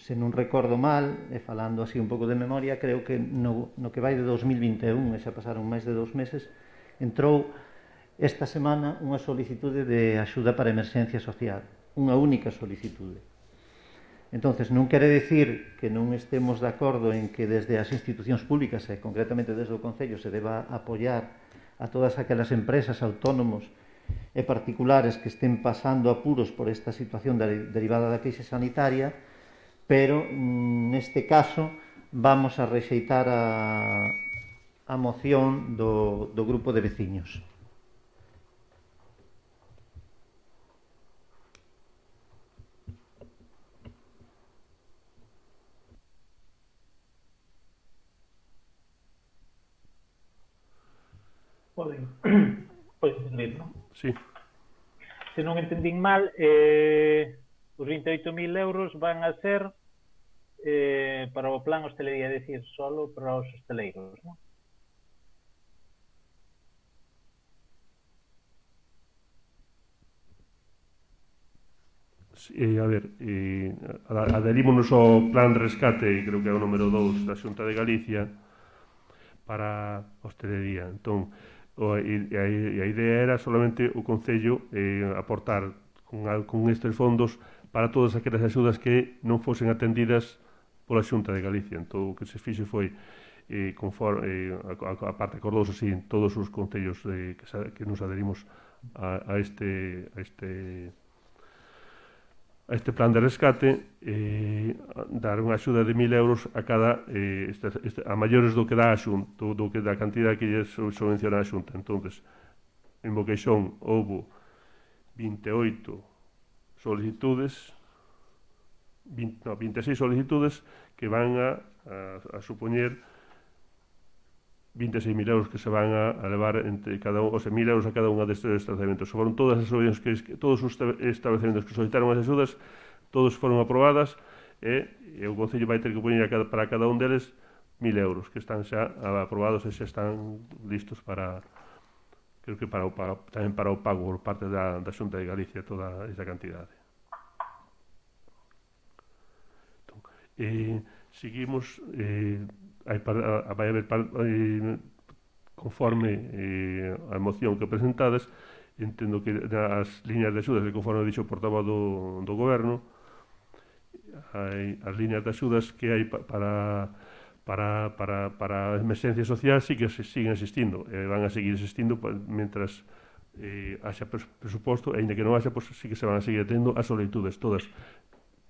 se non recordo mal, e falando así un pouco de memoria, creo que no, no que vai de dos mil vinte e un, e xa pasaron máis de dous meses, entrou esta semana unha solicitude de axuda para a emerxencia social, unha única solicitude. Entonces, non quere dicir que non estemos de acordo en que desde as institucións públicas e concretamente desde o Concello se deba apoiar a todas aquelas empresas, autónomos e particulares que estén pasando apuros por esta situación derivada da crise sanitaria, pero neste caso vamos a rexeitar a, a moción do, do grupo de veciños. Poden, poden ler, non? Sí. Se non entendín mal, eh, os vinte e oito mil euros van a ser eh, para o plan hostelería, é dicir, solo para os hosteleiros, non? Sí, eh, a ver, eh, adherímonos ao plan rescate, creo que é o número dous da Xunta de Galicia, para hostelería. Entón, o, e, e, a, e a idea era solamente o Concello eh, aportar con, con estes fondos para todas aquelas axudas que non fosen atendidas pola Xunta de Galicia. Entón, o que se fixe foi eh, conforme, eh, a, a parte acordoso, así, todos os concellos eh, que, que nos adherimos a, a este a este a este plan de rescate, eh, dar unha axuda de mil euros a cada eh, este, este, a maiores do que dá a Xunta, do, do que da cantidad que lle subvenciona a Xunta. Entonces, en Boqueixón houbo vinte e oito solicitudes, vinte, no, vinte e seis solicitudes que van a, a, a supoñer vinte e seis mil euros que se van a, a levar entre cada un, o sea, mil euros a cada unha destes establecementos. Foron todas as que, todos os establecementos que solicitaron as axudas, todos foron aprobadas e, e o Concello vai ter que poñer a cada, para cada un deles mil euros que están xa aprobados e xa están listos para, creo que para o, para, tamén para o pago por parte da, da Xunta de Galicia toda esa cantidade. Entón, eh, seguimos... Eh, Hai para, vai haber para, eh, conforme eh, a moción que presentadas, entendo que as liñas de axudas, que conforme dixo o portavoz do, do goberno, hai as liñas de axudas que hai para para, para, para a emerxencia social sí que se siguen existindo, e van a seguir existindo mentras eh, haxa presuposto, e ainda que non haxa, pues, sí que se van a seguir tendo as solicitudes todas.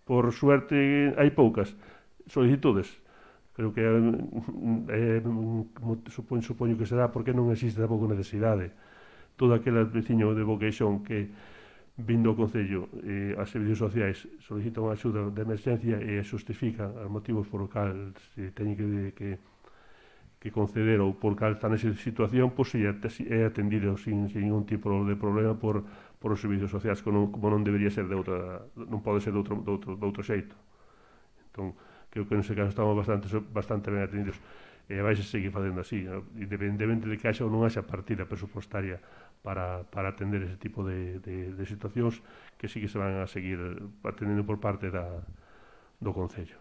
Por suerte hai poucas solicitudes. Creo que eh, supoño, supoño que será porque non existe tampouco necesidade. Todo aquel veciño de Boqueixón que vindo ao Concello eh, a servicios sociais solicitan unha axuda de emerxencia e justifican os motivos por os cal se teñen que, que, que conceder ou por cal está nesa situación, pois é atendido sin, sin ningún tipo de problema por, por os servicios sociais, como non, como non debería ser de outra, non pode ser de outro, de outro, de outro xeito. Entón, creo que nese caso estamos bastante, bastante ben atendidos e vai se seguir facendo así, independentemente de que haxa ou non haxa partida presupostaria para, para atender ese tipo de, de, de situacións que sí que se van a seguir atendendo por parte da, do Concello.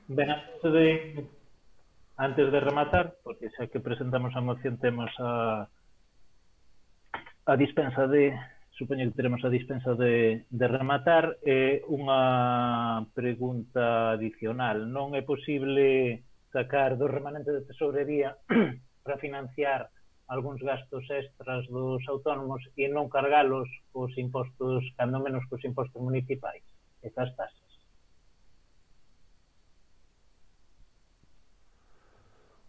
Ben, antes de antes de rematar, porque xa que presentamos a moción temos a a dispensa de, supoño que teremos a dispensa de, de rematar, eh, unha pregunta adicional. Non é posible sacar do remanente de tesorería para financiar algúns gastos extras dos autónomos e non cargalos cos impostos, cando menos cos impostos municipais e cas tasas?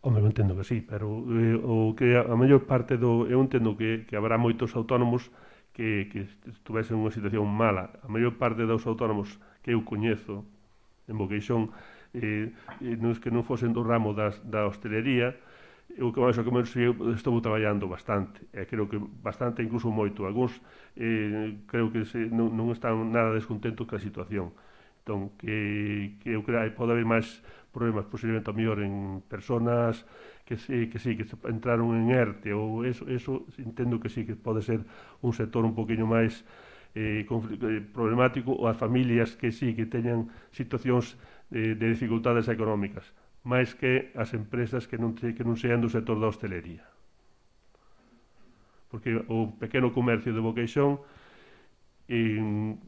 Home, eu entendo que sí, pero eh, o que a, a maior parte do... Eu entendo que, que habrá moitos autónomos que, que estuvesen en unha situación mala. A maior parte dos autónomos que eu coñezo en Boqueixón eh, eh, nos que non fosen do ramo das, da hostelería, eu que máis ou menos estou traballando bastante, e creo que bastante, incluso moito. Alguns eh, creo que se, non, non están nada descontentos ca situación. Entón, que, que eu creo que pode haber máis problemas posiblemente ao mellor en personas que sí, que sí, que entraron en ERTE ou eso, eso entendo que sí que pode ser un sector un poquinho máis eh, problemático, ou as familias que sí que teñan situacións eh, de dificultades económicas, máis que as empresas que non, que non sean do sector da hostelería. Porque o pequeno comercio de Boqueixón en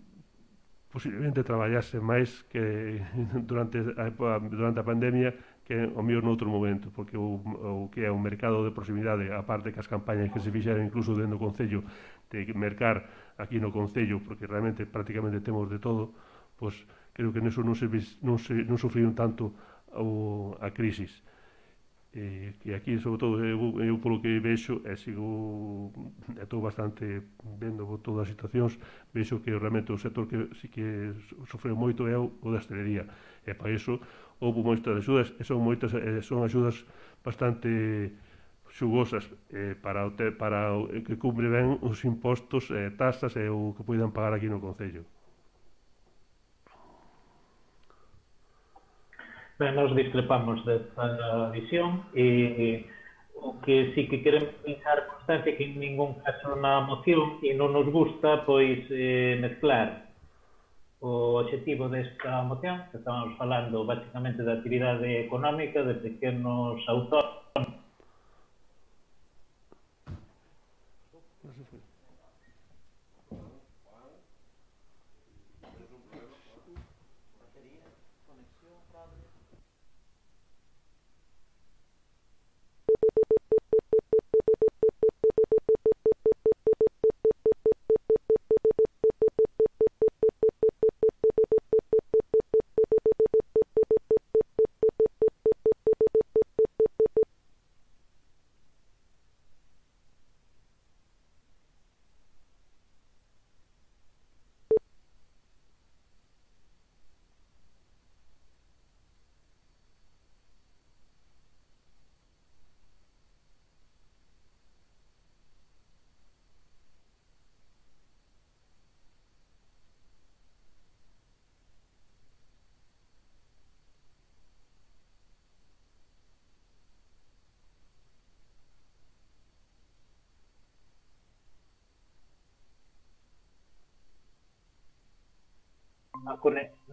posiblemente traballase máis que durante a, durante a pandemia que o mellor noutro momento, porque o, o que é o mercado de proximidade, a parte que as campañas que se fixeron incluso dentro do Concello de mercar aquí no Concello, porque realmente prácticamente temos de todo, pois creo que neso non, se, non, se, non sufriron tanto o, a crisis. Eh, que aquí, sobre todo, eu, eu polo que vexo, e sigo, estou bastante vendo todas as situacións, vexo que realmente o sector que sí que sofreu moito é o, o da hostelería, e para iso houve moitas axudas, e son moitas, e son axudas bastante xugosas eh, para, o te, para o, que cubre ben os impostos, eh, tasas e o que poidan pagar aquí no Concello. Ben, nos discrepamos desta visión e o que sí que queremos deixar constancia que en ningún caso na moción e non nos gusta pois eh, mezclar o objetivo desta moción, que estamos falando basicamente da actividade económica de pequenos autónomos.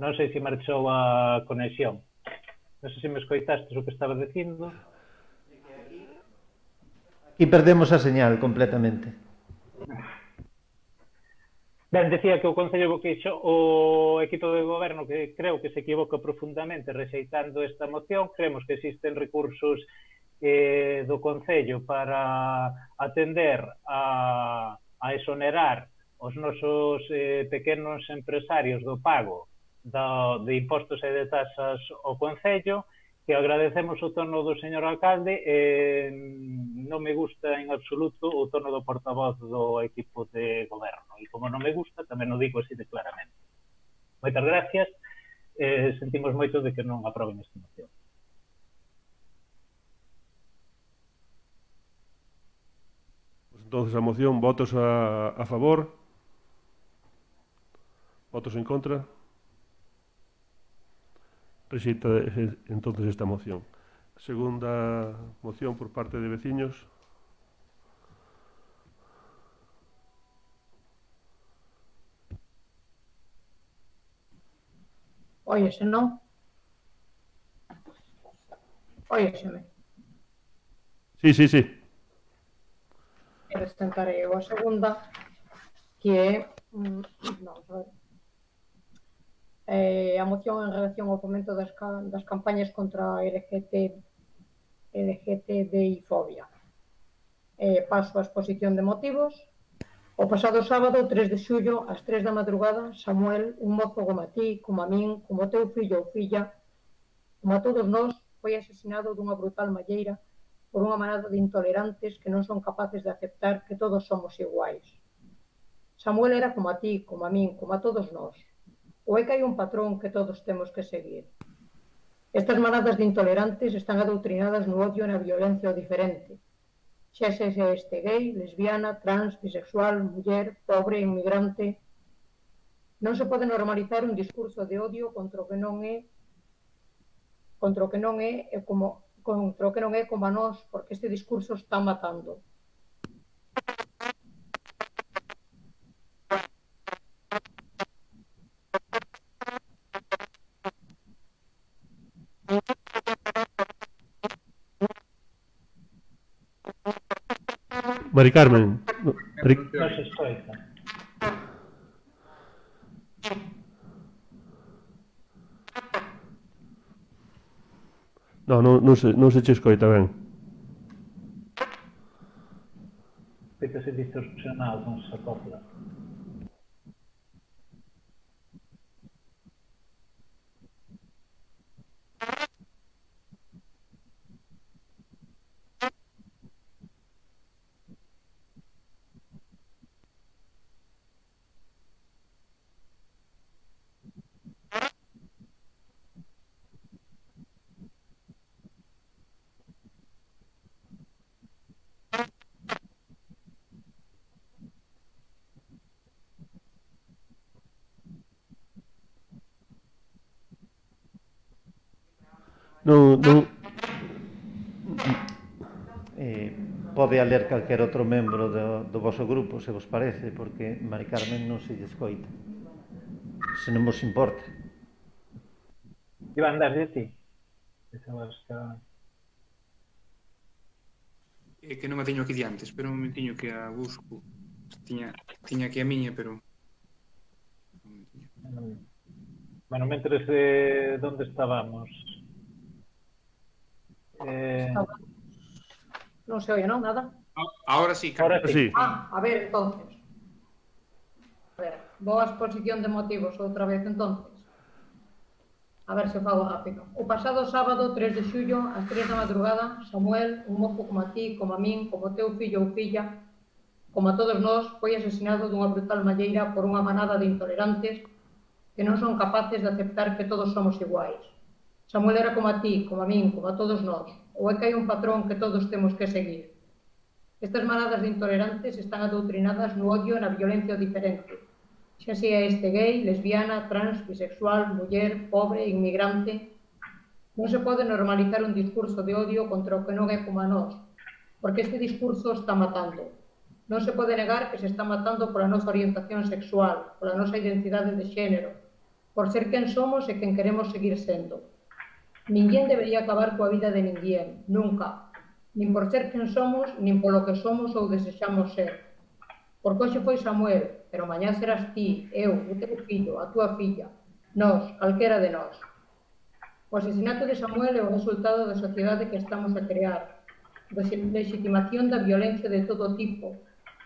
Non sei se marchou a conexión. Non sei se me escoitastes o que estaba dicindo. Aquí perdemos a señal completamente. Ben, decía que o Concello que xo, o equipo de goberno que creo que se equivoca profundamente rexeitando esta moción. Creemos que existen recursos eh, do Concello para atender a, a exonerar os nosos eh, pequenos empresarios do pago do, de impostos e de tasas ao Concello, que agradecemos o tono do señor alcalde. Eh, non me gusta en absoluto o tono do portavoz do equipo de goberno, e como non me gusta, tamén o digo así de claramente. Moitas gracias, eh, sentimos moito de que non aproben esta moción. Entonces a moción, votos a, a favor, votos en contra. Rexeita entonces esta moción. Segunda moción por parte de veciños. Óyese, non? Óyeseme. Sí, sí, sí. Eles tentarei a segunda, que é... Mm, non, a ver. Eh, a moción en relación ao fomento das, das campañas contra a L G T B I fobia. Eh, paso a exposición de motivos. O pasado sábado, tres de xullo, ás tres da madrugada, Samuel, un mozo como a ti, como a min, como o teu fillo ou filla, como a todos nós, foi asesinado dunha brutal malleira por unha manada de intolerantes que non son capaces de aceptar que todos somos iguais. Samuel era como a ti, como a min, como a todos nós. Ou é que hai un patrón que todos temos que seguir? Estas manadas de intolerantes están adoutrinadas no odio e na violencia ao diferente. Xa se este gay, lesbiana, trans, bisexual, muller, pobre, inmigrante. Non se pode normalizar un discurso de odio contra o que non é contra o que non é como contra o que non é como a nós, porque este discurso está matando. Mari Carmen. No, Mari... Non se escoita. No, non, non, se, non se che escoita ben. Pois se distorsionado con esa copla. Non, non, Eh, pode a ler calquer outro membro do, do voso grupo, se vos parece, porque Mari Carmen non se lle escoita. Se non vos importa. Iván, das de ti? Pensabas que... É que non a teño aquí diante, espera un momentiño que a busco. Tiña, tiña aquí a miña, pero... Bueno, mentres de onde estábamos? Eh... Non se oye, non? Nada. Ahora sí, Ahora sí. sí. Ah, a ver, entonces. A ver, boa exposición de motivos outra vez, entonces. A ver se fago rápido. O pasado sábado, tres de xullo, ás tres da madrugada, Samuel, un mozo como a ti, como a min, como teu fillo ou filla, como a todos nós, foi asesinado dunha brutal malleira por unha manada de intolerantes que non son capaces de aceptar que todos somos iguais. Samuel era como a ti, como a min, como a todos nós, ou é que hai un patrón que todos temos que seguir. Estas manadas de intolerantes están adoutrinadas no odio e na violencia diferente, xa sea este gay, lesbiana, trans, bisexual, muller, pobre, inmigrante. Non se pode normalizar un discurso de odio contra o que non é como a nós, porque este discurso está matando. Non se pode negar que se está matando pola nosa orientación sexual, pola nosa identidade de xénero, por ser quen somos e quen queremos seguir sendo. Ninguén debería acabar coa vida de ninguén, nunca, nin por ser quen somos, nin polo que somos ou desexamos ser. Porque hoxe foi Samuel, pero mañá serás ti, eu, o teu fillo, a túa filla, nós, calquera de nós. O asesinato de Samuel é o resultado da sociedade que estamos a crear, da legitimación da violencia de todo tipo,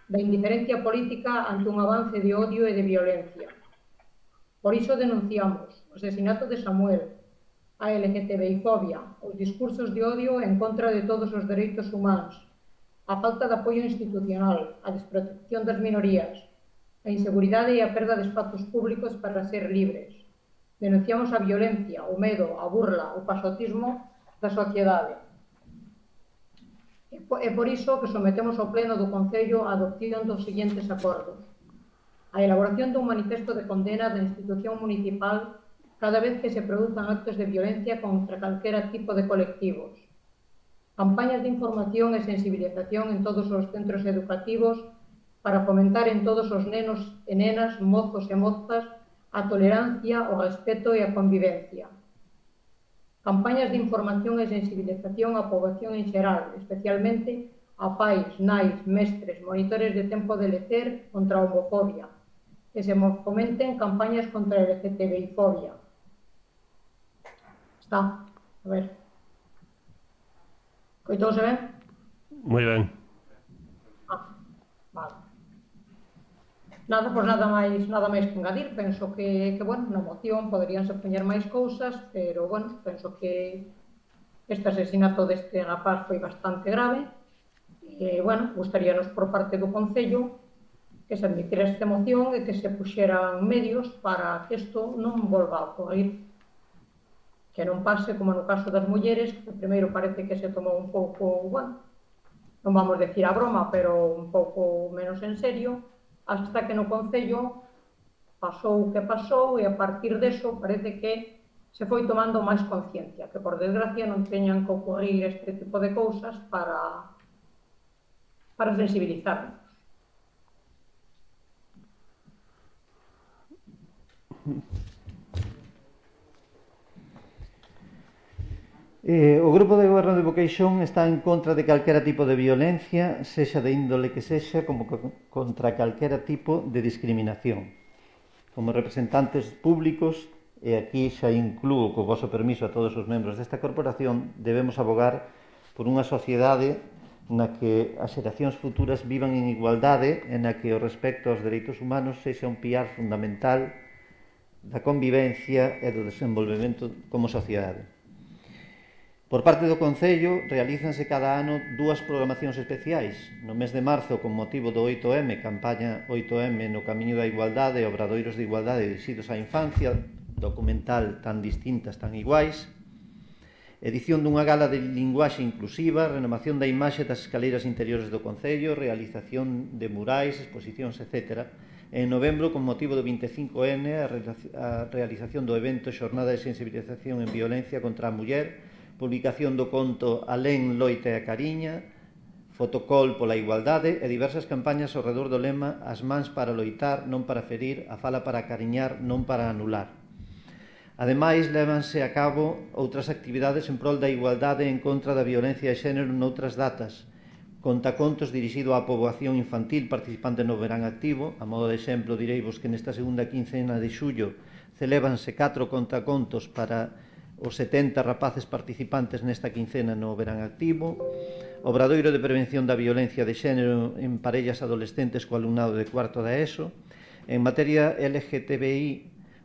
da indiferencia política ante un avance de odio e de violencia. Por iso denunciamos o asesinato de Samuel, a LGTBI-fobia, os discursos de odio en contra de todos os dereitos humanos, a falta de apoio institucional, a desprotección das minorías, a inseguridade e a perda de espazos públicos para ser libres. Denunciamos a violencia, o medo, a burla, o pasotismo da sociedade. É por iso que sometemos ao Pleno do Concello a adopción dos seguintes acordos. A elaboración dun manifesto de condena da institución municipal cada vez que se produzan actos de violencia contra calquera tipo de colectivos. Campañas de información e sensibilización en todos os centros educativos para fomentar en todos os nenos e nenas, mozos e mozas, a tolerancia, o respeto e a convivencia. Campañas de información e sensibilización á poboación en xeral, especialmente a pais, nais, mestres, monitores de tempo de lecer contra a homofobia, que se fomenten campañas contra a LGTBI-fobia. Está, a ver. Coitouse ben? moi ben. Ah, vale. Nada, pois nada máis, nada máis que engadir. Penso que, que, bueno, na moción poderíanse poñer máis cousas, pero, bueno, penso que este asesinato deste rapaz foi bastante grave. E, bueno, gustaríanos por parte do Concello que se admitira esta moción e que se puxeran medios para que isto non volva a ocorrer. Que non pase como no caso das mulleres, que primeiro parece que se tomou un pouco, bueno, non vamos decir a broma, pero un pouco menos en serio, hasta que no Concello pasou o que pasou e a partir deso parece que se foi tomando máis conciencia, que por desgracia non teñan que ocurrir este tipo de cousas para, para sensibilizarnos. Eh, o Grupo de Goberno de Boqueixón está en contra de calquera tipo de violencia, sexa de índole que sexa, como contra calquera tipo de discriminación. Como representantes públicos, e aquí xa inclúo co voso permiso a todos os membros desta corporación, debemos abogar por unha sociedade na que as xeracións futuras vivan en igualdade e na que o respecto aos dereitos humanos sexa un piar fundamental da convivencia e do desenvolvemento como sociedade. Por parte do Concello, realízanse cada ano dúas programacións especiais. No mes de marzo, con motivo do oito eme, campaña oito eme no camiño da igualdade e obradoiros de igualdade dirixidos á infancia, documental tan distintas, tan iguais, edición dunha gala de linguaxe inclusiva, renovación da imaxe das escaleiras interiores do Concello, realización de murais, exposicións, etcétera. En novembro, con motivo do vinte e cinco ene, a realización do evento Xornada de Sensibilización en Violencia contra a Muller, publicación do conto Alén, loita e a cariña, fotocall pola igualdade e diversas campañas ao redor do lema As mans para loitar, non para ferir, a fala para cariñar, non para anular. Ademais, lévanse a cabo outras actividades en prol da igualdade en contra da violencia de xénero noutras datas. Contacontos dirixido á poboación infantil participante no verán activo. A modo de exemplo, direivos que nesta segunda quincena de xullo celébanse catro contacontos para os setenta rapaces participantes nesta quincena no verán activo. Obradoiro de prevención da violencia de xénero en parellas adolescentes co alumnado de cuarto da ESO. En materia L G T B I,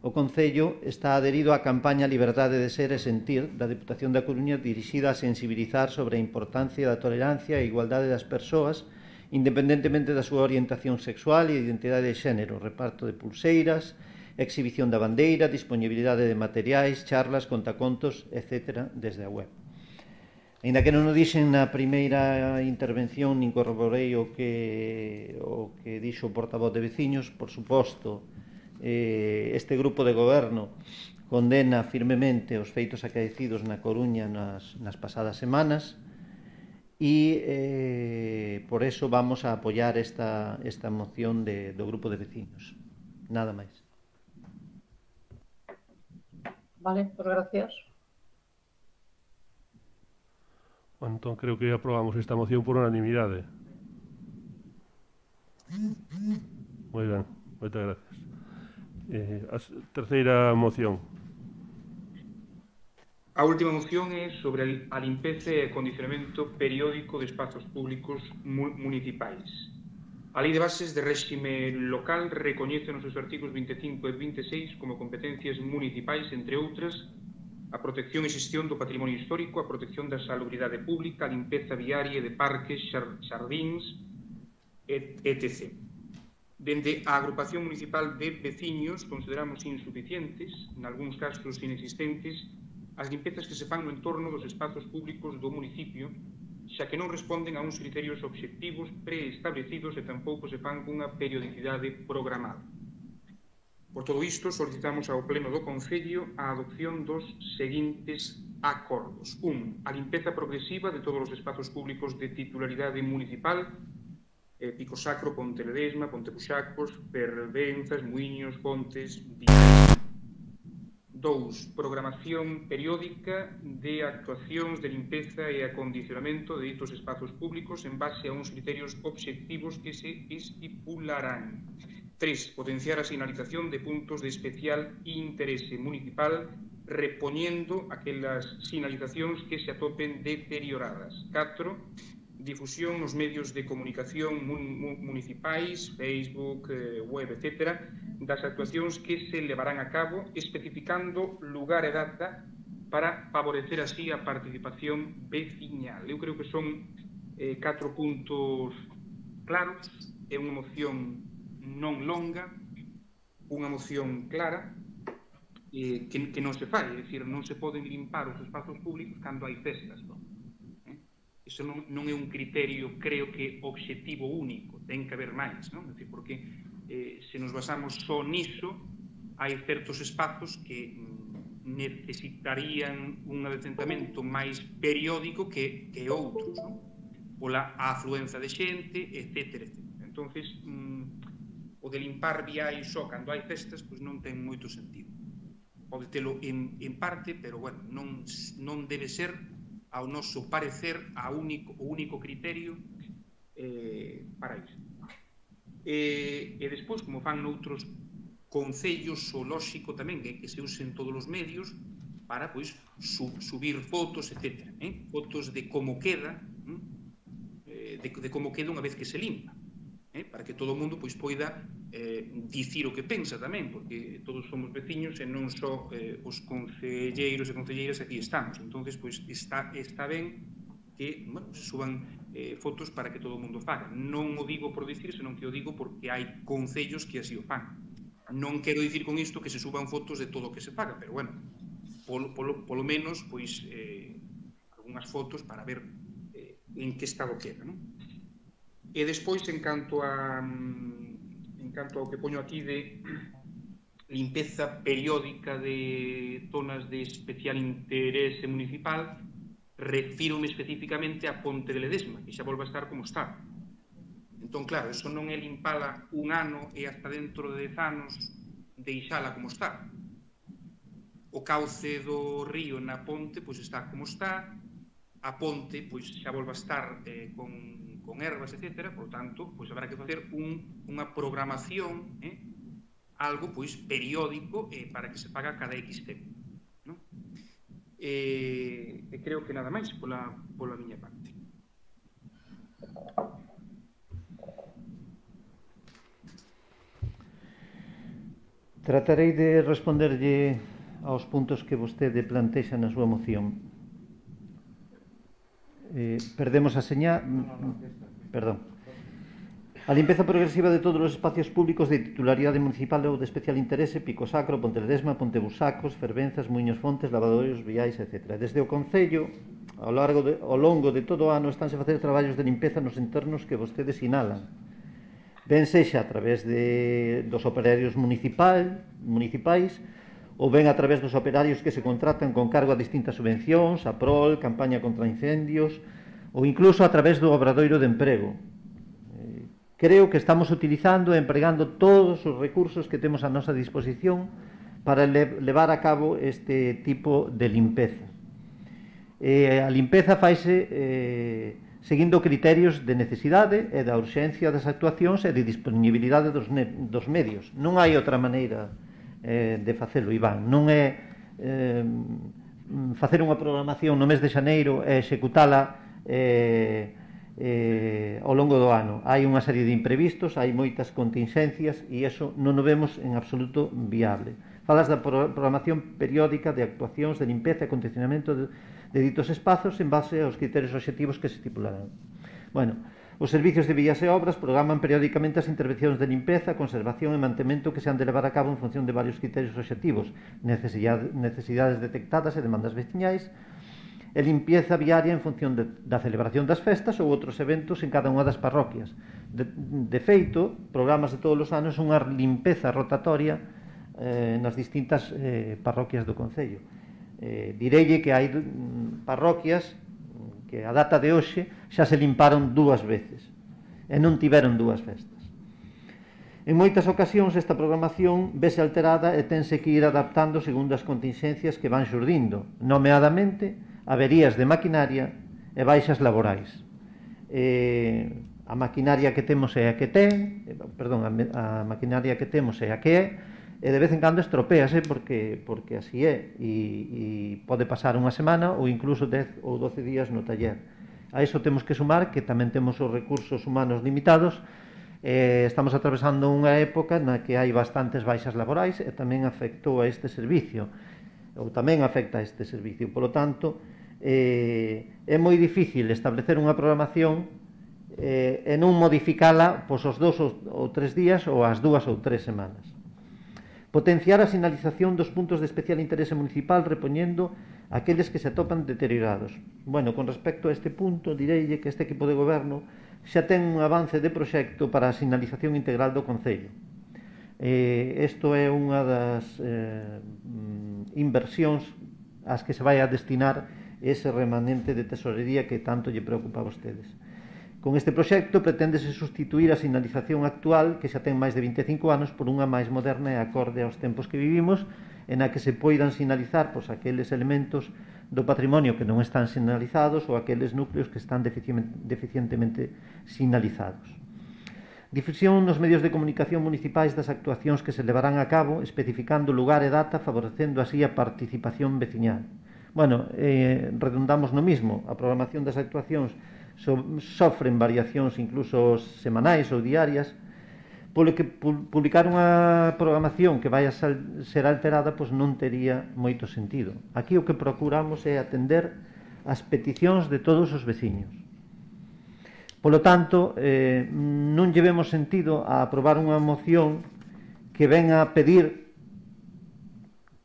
o Concello está adherido á campaña Liberdade de Ser e Sentir da Deputación da Coruña, dirixida a sensibilizar sobre a importancia da tolerancia e igualdade das persoas, independentemente da súa orientación sexual e identidade de xénero, reparto de pulseiras, exhibición da bandeira, disponibilidade de materiais, charlas, contacontos, etcétera, desde a web. Ainda que non o dixen na primeira intervención, nin corroborei o que, o que dixo o portavoz de veciños, por suposto, eh, este grupo de goberno condena firmemente os feitos acaecidos na Coruña nas, nas pasadas semanas e eh, por eso vamos a apoiar esta, esta moción de, do grupo de veciños. Nada máis. Vale, pues gracias. Bueno, entón creo que aprobamos esta moción por unanimidade. Moi ben, moitas gracias. Eh, a terceira moción. A última moción é sobre a limpeza e acondicionamento periódico de espazos públicos municipais. A Lei de Bases de Réxime Local recoñece nos seus artigos vinte e cinco e vinte e seis como competencias municipais, entre outras, a protección e xestión do patrimonio histórico, a protección da salubridade pública, a limpeza viaria de parques, xardíns, etcétera. Dende a agrupación municipal de veciños consideramos insuficientes, nalgúns casos inexistentes, as limpezas que se fan no entorno dos espazos públicos do municipio, xa que non responden a uns criterios obxectivos preestablecidos e tampouco se fan cunha periodicidade programada. Por todo isto, solicitamos ao Pleno do Concello a adopción dos seguintes acordos. Un, a limpeza progresiva de todos os espazos públicos de titularidade municipal, eh, Pico Sacro, Ponte Ledesma, Ponte Buxacos, Fervenzas, Muiños, Pontes, Díaz. Dous, programación periódica de actuacións de limpeza e acondicionamento de ditos espazos públicos en base a uns criterios obxectivos que se estipularán. Tres, potenciar a sinalización de puntos de especial interese municipal repoñendo aquelas sinalizacións que se atopen deterioradas. Catro, difusión nos medios de comunicación municipais, Facebook, web, etcétera, das actuacións que se levarán a cabo, especificando lugar e data para favorecer así a participación veciñal. Eu creo que son eh, catro puntos claros, é unha moción non longa, unha moción clara, eh, que, que non se fai, é dicir, non se poden limpar os espazos públicos cando hai festas, non? Iso non, non é un criterio, creo que, obxectivo único, ten que haber máis, non? É dicir, porque eh, se nos basamos só niso, hai certos espazos que mm, necesitarían un adecentamento máis periódico que, que outros, non? Pola afluenza de xente, etcétera, etcétera. Entonces, mm, o de limpar viais só cando hai festas, pois non ten moito sentido. Pode telo en, en parte, pero, bueno, non, non debe ser, ao noso parecer, a único, o único criterio eh, para isto. E, e despois, como fan noutros concellos, o lóxico tamén é que se usen todos os medios para, pois, sub, subir fotos, etcétera. Eh? Fotos de como queda, eh? eh, de, de como queda unha vez que se limpa, eh, para que todo o mundo pois poida eh, dicir o que pensa tamén, porque todos somos veciños e non só eh, os concelleiros e concelleiras aquí estamos. Entonces, pois está, está ben que, bueno, se suban eh, fotos para que todo o mundo faga. Non o digo por dicir, senón que o digo porque hai concellos que así o fan. Non quero dicir con isto que se suban fotos de todo o que se faga, pero, bueno, polo, polo, polo menos, pois, eh, algunhas fotos para ver eh, en que estado queda, non? E despois, en canto a en canto ao que poño aquí de limpeza periódica de zonas de especial interese municipal, refírome especificamente a Ponte de Ledesma, que xa volve a estar como está. Entón, claro, eso non é limpala un ano e hasta dentro de dez anos deixala como está. O cauce do río na ponte pois está como está, a ponte pois xa volve a estar eh, con, con ervas, etcétera, por tanto, pois habrá que facer un, unha programación, eh, algo pois periódico eh, para que se paga cada X tempo, non? E, e creo que nada máis pola, pola miña parte. Tratarei de responderlle aos puntos que vostede plantexa na súa moción. Eh, perdemos a señal... Perdón. A limpeza progresiva de todos os espacios públicos de titularidade municipal ou de especial interese, Pico Sacro, Ponte Ledesma, Ponte Busacos, Fervenzas, Muiños Fontes, Lavadoiros, Viais, etcétera. Desde o Concello, ao, largo de, ao longo de todo o ano, estánse a facer traballos de limpeza nos entornos que vostedes sinalan. Ben sexa a través de, dos operarios municipal, municipais, ou ben a través dos operarios que se contratan con cargo a distintas subvencións, a prol, campaña contra incendios, ou incluso a través do obradoiro de emprego. Creo que estamos utilizando e empregando todos os recursos que temos a nosa disposición para levar a cabo este tipo de limpeza. Eh, a limpeza faise eh, seguindo criterios de necesidade e da urxencia das actuacións e de disponibilidade dos, dos medios. Non hai outra maneira eh, de facelo, Iván. Non é eh, facer unha programación no mes de xaneiro e executala eh, Eh, ao longo do ano. Hai unha serie de imprevistos, hai moitas contingencias e iso non o vemos en absoluto viable. Falas da programación periódica de actuacións de limpeza e acondicionamento de, de ditos espazos en base aos criterios obxectivos que se estipularán. Bueno, os servicios de vías e obras programan periódicamente as intervencións de limpeza, conservación e mantemento que se han de levar a cabo en función de varios criterios obxectivos, necesidades, necesidades detectadas e demandas veciñais, e limpieza viaria en función de, da celebración das festas ou outros eventos en cada unha das parroquias. De, de feito, programas de todos os anos unha limpeza rotatoria eh, nas distintas eh, parroquias do Concello. Eh, direille que hai parroquias que a data de hoxe xa se limparon dúas veces e non tiveron dúas festas. En moitas ocasións esta programación vese alterada e tense que ir adaptando segundo as contingencias que van xurdindo, nomeadamente averías de maquinaria e baixas laborais. Eh, a maquinaria que temos é a que ten, eh, perdón, a, a maquinaria que temos é a que é, e de vez en cando estropease porque, porque así é, e, e pode pasar unha semana ou incluso dez ou doce días no taller. A iso temos que sumar que tamén temos os recursos humanos limitados, eh, estamos atravesando unha época na que hai bastantes baixas laborais e tamén afectou a este servicio, ou tamén afecta a este servicio. Por lo tanto, eh, é moi difícil establecer unha programación eh, e non modificala pois, os dous ou tres días ou as dúas ou tres semanas. Potenciar a sinalización dos puntos de especial interese municipal repoñendo aqueles que se atopan deteriorados. Bueno, con respecto a este punto, direille que este equipo de goberno xa ten un avance de proxecto para a sinalización integral do Concello. Eh, isto é unha das eh, inversións ás que se vai a destinar ese remanente de tesorería que tanto lle preocupa a vostedes. Con este proxecto preténdese sustituir a sinalización actual, que xa ten máis de vinte e cinco anos, por unha máis moderna e acorde aos tempos que vivimos, en a que se poidan sinalizar pois, aqueles elementos do patrimonio que non están sinalizados ou aqueles núcleos que están deficientemente sinalizados. Difusión nos medios de comunicación municipais das actuacións que se levarán a cabo, especificando lugar e data, favorecendo así a participación veciñal. Bueno, eh, redundamos no mismo, a programación das actuacións sofren variacións incluso semanais ou diarias, polo que publicar unha programación que vai a ser alterada pois non tería moito sentido. Aquí o que procuramos é atender as peticións de todos os veciños. Polo tanto, eh, non llevemos sentido a aprobar unha moción que ven a pedir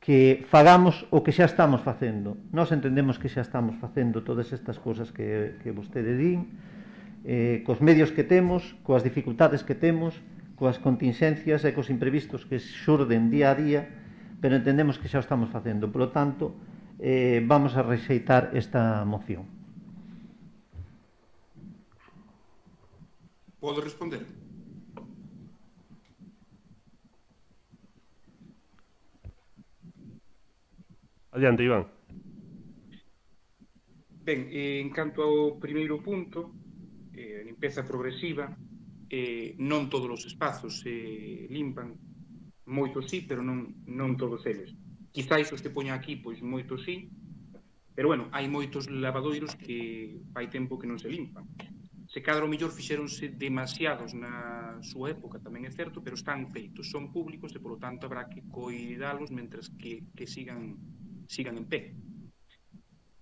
que fagamos o que xa estamos facendo. Nós entendemos que xa estamos facendo todas estas cousas que, que vostede din, eh, cos medios que temos, coas dificultades que temos, coas contingencias e cos imprevistos que xurden día a día, pero entendemos que xa o estamos facendo. Por lo tanto, eh, vamos a rexeitar esta moción. Podo responder? Adiante, Iván. Ben, en canto ao primeiro punto, eh, limpeza progresiva, Eh, non todos os espazos se eh, limpan, moitos sí, pero non, non todos eles. Quizáis os que poña aquí, pois moitos sí, pero bueno, hai moitos lavadoiros que fai tempo que non se limpan. Se cadra o mellor fixeronse demasiados na súa época, tamén é certo, pero están feitos, son públicos e, polo tanto, habrá que coidalos mentres que, que sigan, sigan en pé.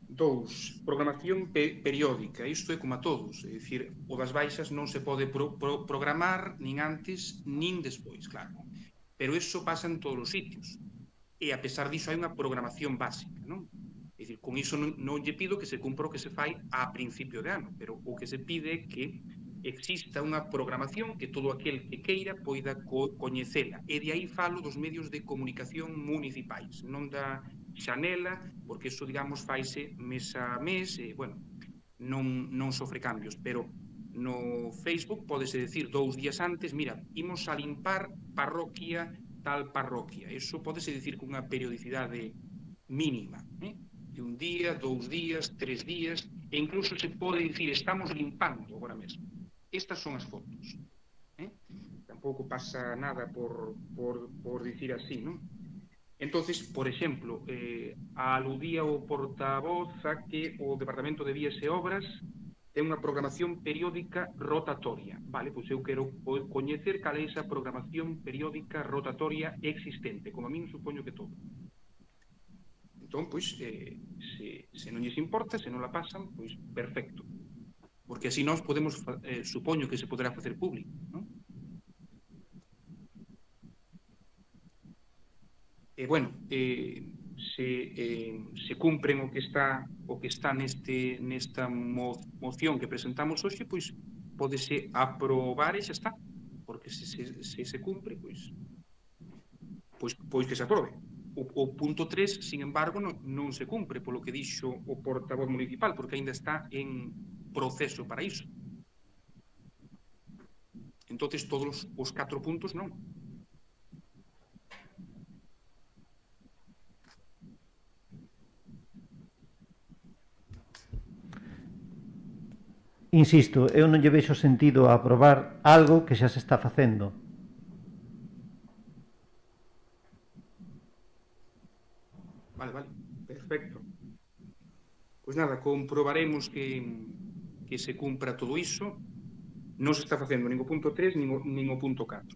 Dous, programación pe periódica. Isto é como a todos, é dicir, o das baixas non se pode pro pro programar nin antes nin despois, claro. Pero iso pasa en todos os sitios. E a pesar diso hai unha programación básica, non? É dicir, con iso non, non lle pido que se cumpra o que se fai a principio de ano, pero o que se pide é que exista unha programación que todo aquel que queira poida co coñecela. E de aí falo dos medios de comunicación municipais, non da xanela, porque iso, digamos, faise mes a mes, e, bueno, non, non sofre cambios, pero no Facebook podese decir dous días antes, mira, imos a limpar parroquia tal parroquia. Iso podese decir con unha periodicidade mínima, eh? de un día, dous días, tres días, e incluso se pode dicir, estamos limpando agora mesmo. Estas son as fotos. Eh? Tampouco pasa nada por, por, por dicir así, non? Entonces, por exemplo, eh, aludía o portavoz a que o Departamento de Vías e Obras ten unha programación periódica rotatoria. Vale, pois eu quero coñecer cal é esa programación periódica rotatoria existente, como a min supoño que todo. Entón, pois, eh, se, se non lles importa, se non la pasan, pois, perfecto. Porque así nós podemos, eh, supoño que se poderá facer público, non? E, bueno, eh, se, eh, se cumpren o que está o que está neste nesta mo, moción que presentamos hoxe, pois pódese aprobar e xa está. Porque se se, se, se cumpre, pois, pois pois que se aprobe. O, o punto tres, sin embargo, non, non se cumpre polo que dixo o portavoz municipal, porque aínda está en proceso para iso. Entonces, todos os catro puntos non. Insisto, eu non lle vexo sentido a aprobar algo que xa se está facendo. Vale, vale, perfecto. Pois nada, comprobaremos que, que se cumpra todo iso. Non se está facendo nin o punto tres nin o, nin o punto catro.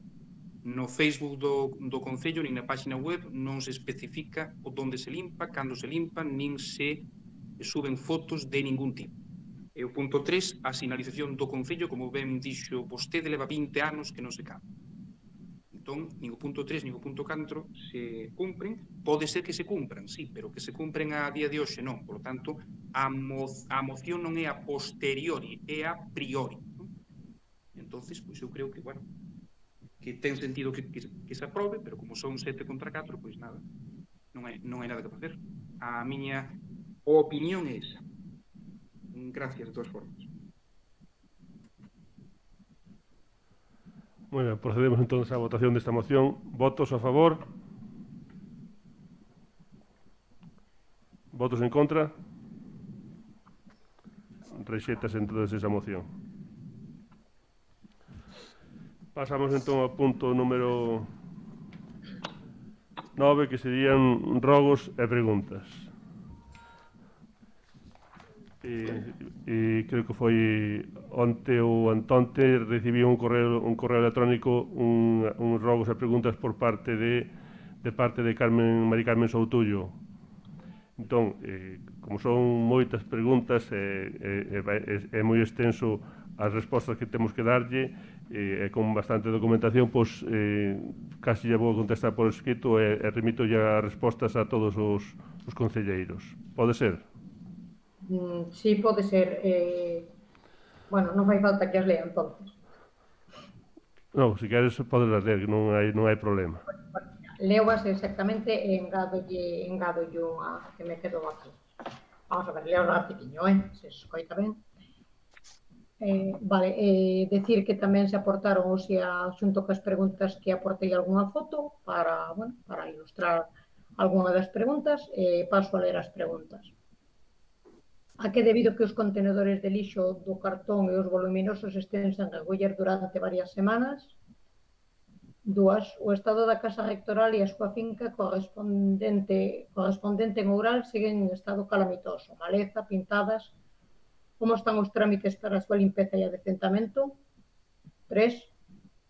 No Facebook do, do Concello, nin na página web, non se especifica o donde se limpa, cando se limpa, nin se suben fotos de ningún tipo. E o punto tres, a sinalización do Concello, como ben dixo vostede, leva vinte anos que non se cambia. Entón, nin o punto tres, nin o punto catro se cumpren. Pode ser que se cumpran, sí, pero que se cumpren a día de hoxe non. Por lo tanto, a, mo a moción non é a posteriori, é a priori. Non? Entonces, pois eu creo que, bueno, que ten sentido que, que, que se aprobe, pero como son sete contra catro, pois nada, non hai, non hai nada que facer. A miña opinión é esa. Gracias, de todas formas. Bueno, procedemos entonces á votación desta moción. Votos a favor? Votos en contra? Rexétase entonces esa moción. Pasamos entón ao punto número nove, que serían rogos e preguntas. eh, eh, creo que foi onte ou antonte, recibí un correo, un correo electrónico, un, un rogos e preguntas por parte de, de parte de Carmen, Mari Carmen Soutullo. Entón, eh, como son moitas preguntas, eh, eh, é, é moi extenso as respostas que temos que darlle, e eh, con bastante documentación, pois eh, casi lle vou contestar por escrito e, e remito ya as respostas a todos os, os concelleiros. Pode ser? Mm, sí, pode ser. Eh, bueno, non fai falta que as lea, entonces. Non, se queres podes ler, non hai, non hai problema. Leoas exactamente e engadolle, engadolle unha que me quedo aquí. Vamos a ver, leo rapidiño, eh? Se escoita ben. Eh, vale, eh, decir que tamén se aportaron hoxe a xunto cas preguntas que aportei algunha foto para, bueno, para ilustrar algunha das preguntas, e eh, paso a ler as preguntas. A que debido que os contenedores de lixo do cartón e os voluminosos estén sen recoller durante varias semanas? Dúas, o estado da casa rectoral e a súa finca correspondente, correspondente en Oural seguen en estado calamitoso, maleza, pintadas. Como están os trámites para a súa limpeza e adecentamento? Tres,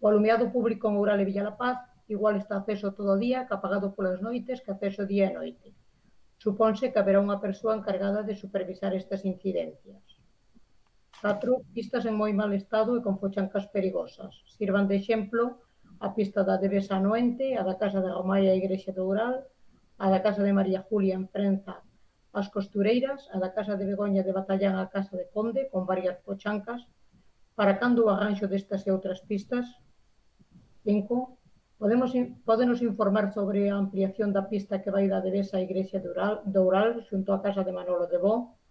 o alumiado público en Oural e Villalapaz igual está acceso todo o día que apagado polas noites que acceso día e noite. Supónse que haberá unha persoa encargada de supervisar estas incidencias. Catro, pistas en moi mal estado e con fochancas perigosas. Sirvan de exemplo a pista da Devesa a Noente, a da Casa de Romai a Igrexa de Oural, a da Casa de María Julia en Prenza as Costureiras, a da Casa de Begoña de Batallán a Casa de Conde, con varias fochancas. Para cando o arranxo destas e outras pistas? Cinco, podemos, podenos informar sobre a ampliación da pista que vai da Devesa a Igrexa de Oural, de Oural xunto á Casa de Manolo de Bo?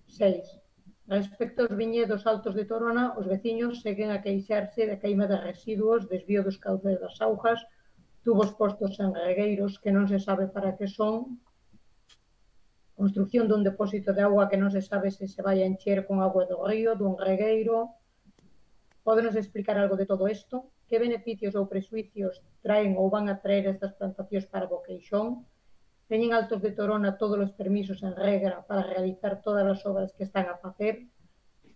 Seis, respecto aos viñedos altos de Torona, os veciños seguen a queixarse de queima de residuos, desvío dos cauces das augas, tubos postos en regueiros que non se sabe para que son, construcción dun depósito de auga que non se sabe se se vai a encher con auga do río, dun regueiro. Pódenos explicar algo de todo isto? Que beneficios ou presuicios traen ou van a traer estas plantacións para Boqueixón? Teñen Altos de Torona todos os permisos en regra para realizar todas as obras que están a facer?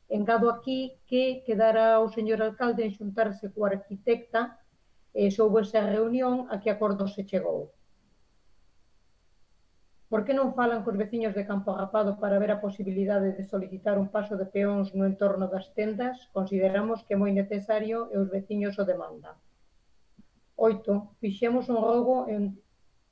Engado aquí que quedara o señor alcalde en xuntarse coa arquitecta e soubo esa reunión a que acordo se chegou. Por que non falan cos veciños de Campo Agapado para ver a posibilidade de solicitar un paso de peóns no entorno das tendas? Consideramos que é moi necesario e os veciños o demandan. Oito. Fixemos un rogo en,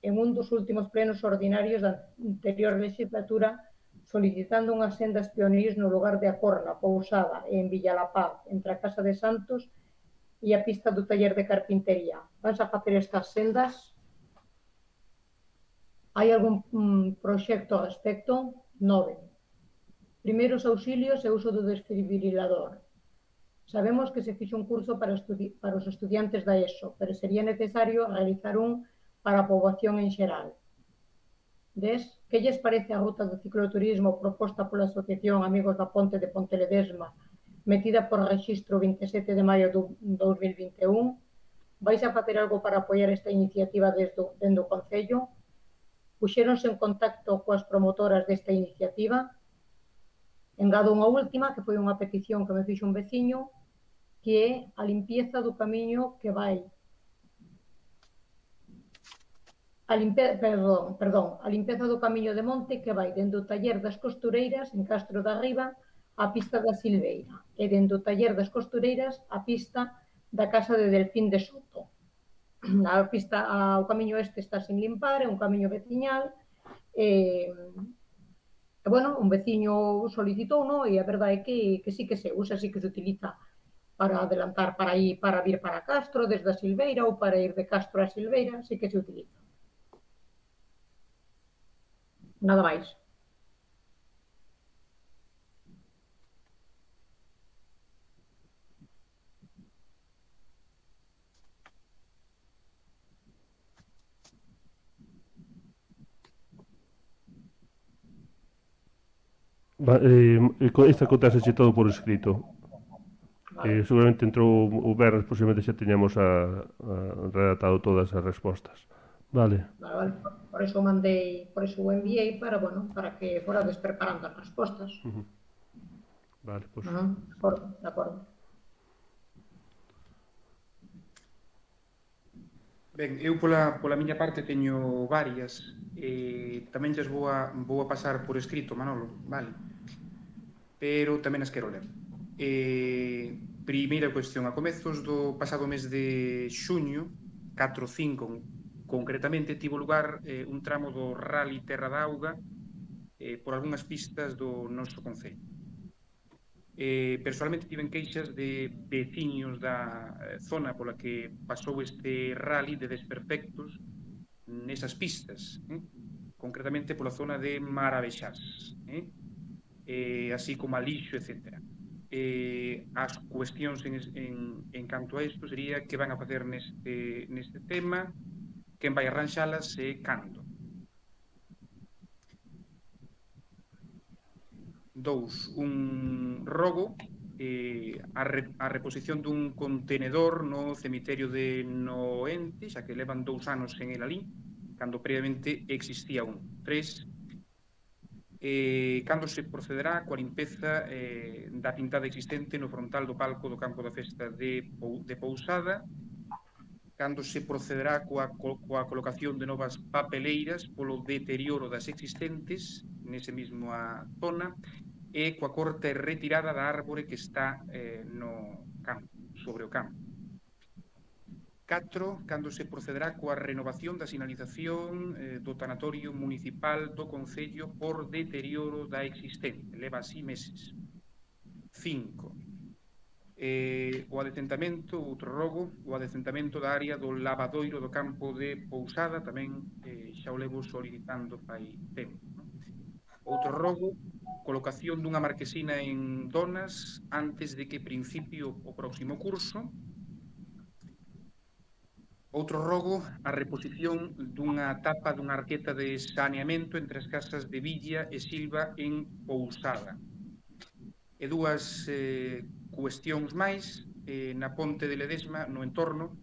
en un dos últimos plenos ordinarios da anterior legislatura solicitando unhas sendas pionís no lugar de Acorna, Pousada e en Villalapaz, entre a Casa de Santos e a pista do taller de carpintería. Vas a facer estas sendas? Hai algún mm, proxecto ao respecto? Nove. Primeiros auxilios e uso do desfibrilador. Sabemos que se fixe un curso para, para os estudiantes da ESO, pero sería necesario realizar un para a poboación en xeral. Dez. Que lles parece a ruta do cicloturismo proposta pola Asociación Amigos da Ponte de Ponteledesma, metida por registro vinte e sete de maio do dous mil vinte e un? Vais a facer algo para apoiar esta iniciativa desde dentro do Concello? Puxéronse en contacto coas promotoras desta iniciativa? Engado unha última, que foi unha petición que me fixo un veciño, que é a limpieza do camiño que vai a limpe... perdón, perdón, a limpeza do camiño de monte que vai dende o taller das Costureiras en Castro da Riba á pista da Silveira e dende o taller das Costureiras á pista da Casa de Delfín de Soto. A pista, a, o camiño este está sin limpar, é un camiño veciñal e, e bueno, un veciño solicitou, no? E a verdade é que, que sí que se usa, sí que se utiliza para adelantar, para ir, para vir para Castro desde a Silveira ou para ir de Castro a Silveira, sí que se utiliza. Nada máis. Va, eh, esta contaxe todo por escrito. Vale. Eh, seguramente entrou o verres, posiblemente xa teñamos a, a redactado todas as respostas. Vale. Vale, vale. Por eso mandei, por eso o enviei para, bueno, para que forades preparando as respostas. Uh -huh. Vale, pois. Uh -huh. De acordo, de acordo. Ben, eu pola, pola miña parte teño varias, eh, tamén lles vou a, vou a pasar por escrito, Manolo, vale? Pero tamén as quero ler. Eh, primeira cuestión, a comezos do pasado mes de xuño, catro cinco concretamente, tivo lugar eh, un tramo do Rally Terra da Auga eh, por algunhas pistas do noso concello. Eh, personalmente tiven queixas de veciños da eh, zona pola que pasou este rally de desperfectos nesas pistas, eh? concretamente pola zona de Maravexás, eh? Eh, así como a lixo, etcétera. Eh, as cuestións en, en, en canto a isto sería que van a facer neste, neste tema, quen vai arranxalas e cando. Dous, un rogo, eh, a, re, a reposición dun contenedor no cemiterio de Noente, xa que levan dous anos en el alí, cando previamente existía un. Tres, eh, cando se procederá coa limpeza eh, da pintada existente no frontal do palco do campo da festa de, de Pousada, cando se procederá coa, coa colocación de novas papeleiras polo deterioro das existentes nese mesmo a zona, e coa corta e retirada da árbore que está eh, no campo, sobre o campo. catro. Cando se procederá coa renovación da sinalización eh, do tanatorio municipal do Concello por deterioro da existente. Leva así meses. cinco. Eh, o adecentamento, outro rogo, o adecentamento da área do lavadoiro do campo de Pousada, tamén eh, xa o levo solicitando fai tempo. No? Outro rogo, colocación dunha marquesina en Donas antes de que principio o próximo curso. Outro rogo, a reposición dunha tapa dunha arqueta de saneamento entre as casas de Villa e Silva en Pousada. E dúas eh, cuestións máis, eh, na ponte de Ledesma, no entorno,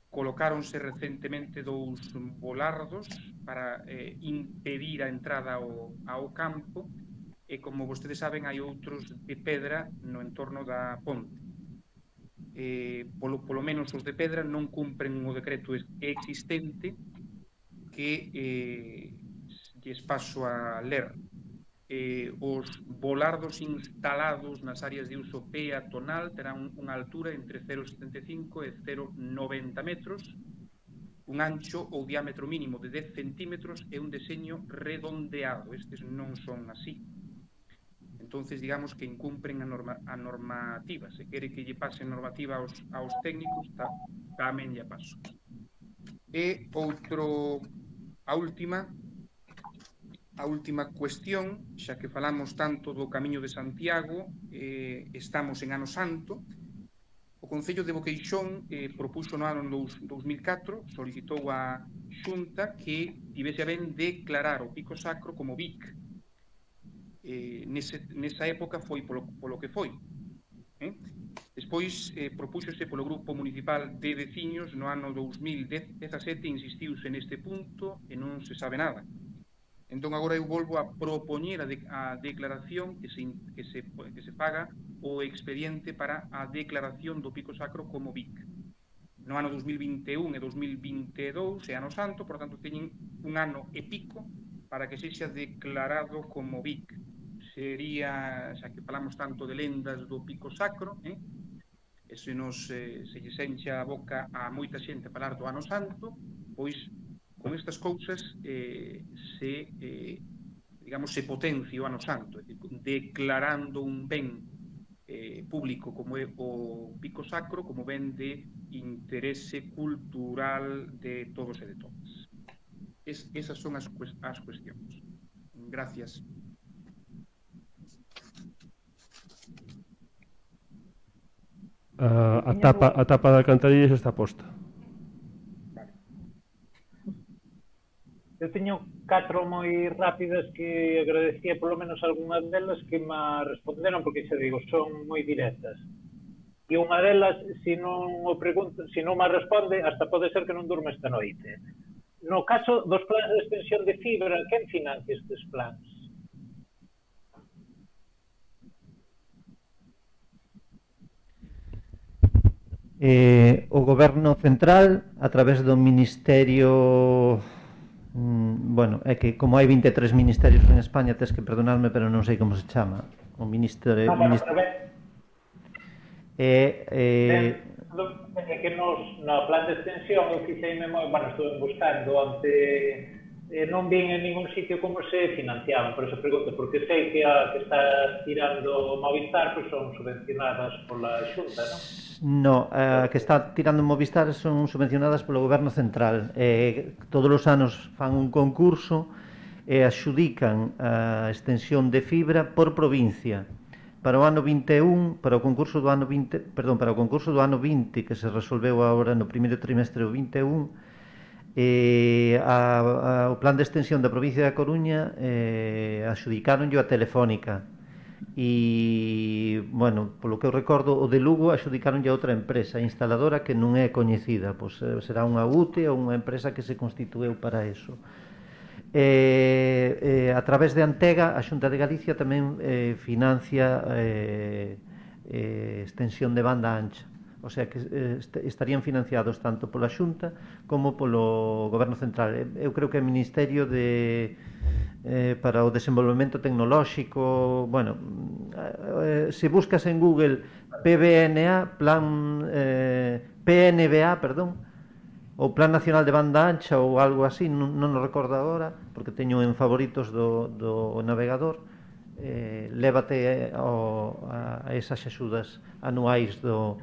colocáronse recentemente dous volardos para eh, impedir a entrada ao, ao campo, e como vostedes saben hai outros de pedra no entorno da ponte. Eh, polo, polo menos os de pedra non cumpren o decreto existente que eh, lles paso a ler. Eh, os volardos instalados nas áreas de uso peatonal terán unha altura entre cero vírgula setenta e cinco e cero vírgula noventa metros, un ancho ou diámetro mínimo de dez centímetros e un deseño redondeado. Estes non son así. Entonces, digamos que incumpren a, norma, a normativa. Se quere que lle pase normativa aos, aos técnicos, ta, tamén lle paso. E outro, a última, a última cuestión, xa que falamos tanto do Camiño de Santiago, eh, estamos en Ano Santo. O Concello de Boqueixón eh, propuxo no ano dous mil catro, solicitou a Xunta que tivese a ben declarar o Pico Sacro como V I C. Eh, nese, nesa época foi polo, polo que foi. Eh? Despois eh, propúxose polo Grupo Municipal de Veciños no ano dous mil dezasete, insistiuse neste punto e non se sabe nada. Entón agora eu volvo a propoñer a, de, a declaración que se, que, se, que se paga o expediente para a declaración do Pico Sacro como V I C. No ano dous mil vinte e un e dous mil vinte e dous é ano santo, por tanto teñen un ano e pico para que sexa declarado como V I C. Sería, xa que falamos tanto de lendas do Pico Sacro, eh? e se nos eh, se lle encha a boca a moita xente a falar do Ano Santo, pois con estas cousas eh, se, eh, digamos, se potencia o Ano Santo, é dicir, declarando un ben eh, público como é o Pico Sacro como ben de interese cultural de todos e de todas. Es, esas son as, as cuestións. Gracias. A, a, tapa, a tapa da alcantarilla xa está posta. Vale. Eu teño catro moi rápidas que agradecía polo menos algunhas delas que me responderon, porque xa digo, son moi directas. E unha delas, se non o pregunto, se non me responde, hasta pode ser que non durma esta noite. no caso dos plans de extensión de fibra, quen financia estes plans? Eh, o Goberno Central, a través do Ministerio... Mm, bueno, é que como hai vinte e tres ministerios en España, tes que perdonarme, pero non sei como se chama. O Ministerio... Ah, bueno, minister... pero ben, eh, eh... ben, que nos, no plan de extensión, eu fixeime, bueno, estuve buscando ante... Eh, non vin en ningún sitio como se financiaban, por eso pregunto, porque sei que a que está tirando Movistar pues son subvencionadas pola Xunta, non? No, a que está tirando Movistar son subvencionadas polo Goberno Central. Eh, todos os anos fan un concurso e axudican a extensión de fibra por provincia. Para o ano vinte e un, para o concurso do ano vinte, perdón, para o concurso do ano vinte que se resolveu agora no primeiro trimestre do vinte e un, eh, a, a, o plan de extensión da provincia da Coruña eh, axudicaronllo a Telefónica e, bueno, polo que eu recordo, o de Lugo axudicaronlle a outra empresa instaladora que non é coñecida, pois será unha U T E ou unha empresa que se constitueu para eso. Eh, eh, a través de Antega, a Xunta de Galicia tamén eh, financia eh, eh, extensión de banda ancha. O sea que eh, estarían financiados tanto pola Xunta como polo Goberno Central. Eu creo que o Ministerio de eh, para o Desenvolvemento Tecnolóxico, bueno, eh, se buscas en Google P B N A, plan eh, P N B A, perdón, ou Plan Nacional de Banda Ancha ou algo así, non, non o recordo agora, porque teño en favoritos do, do navegador. Eh, lévate ao, a, a esas axudas anuais do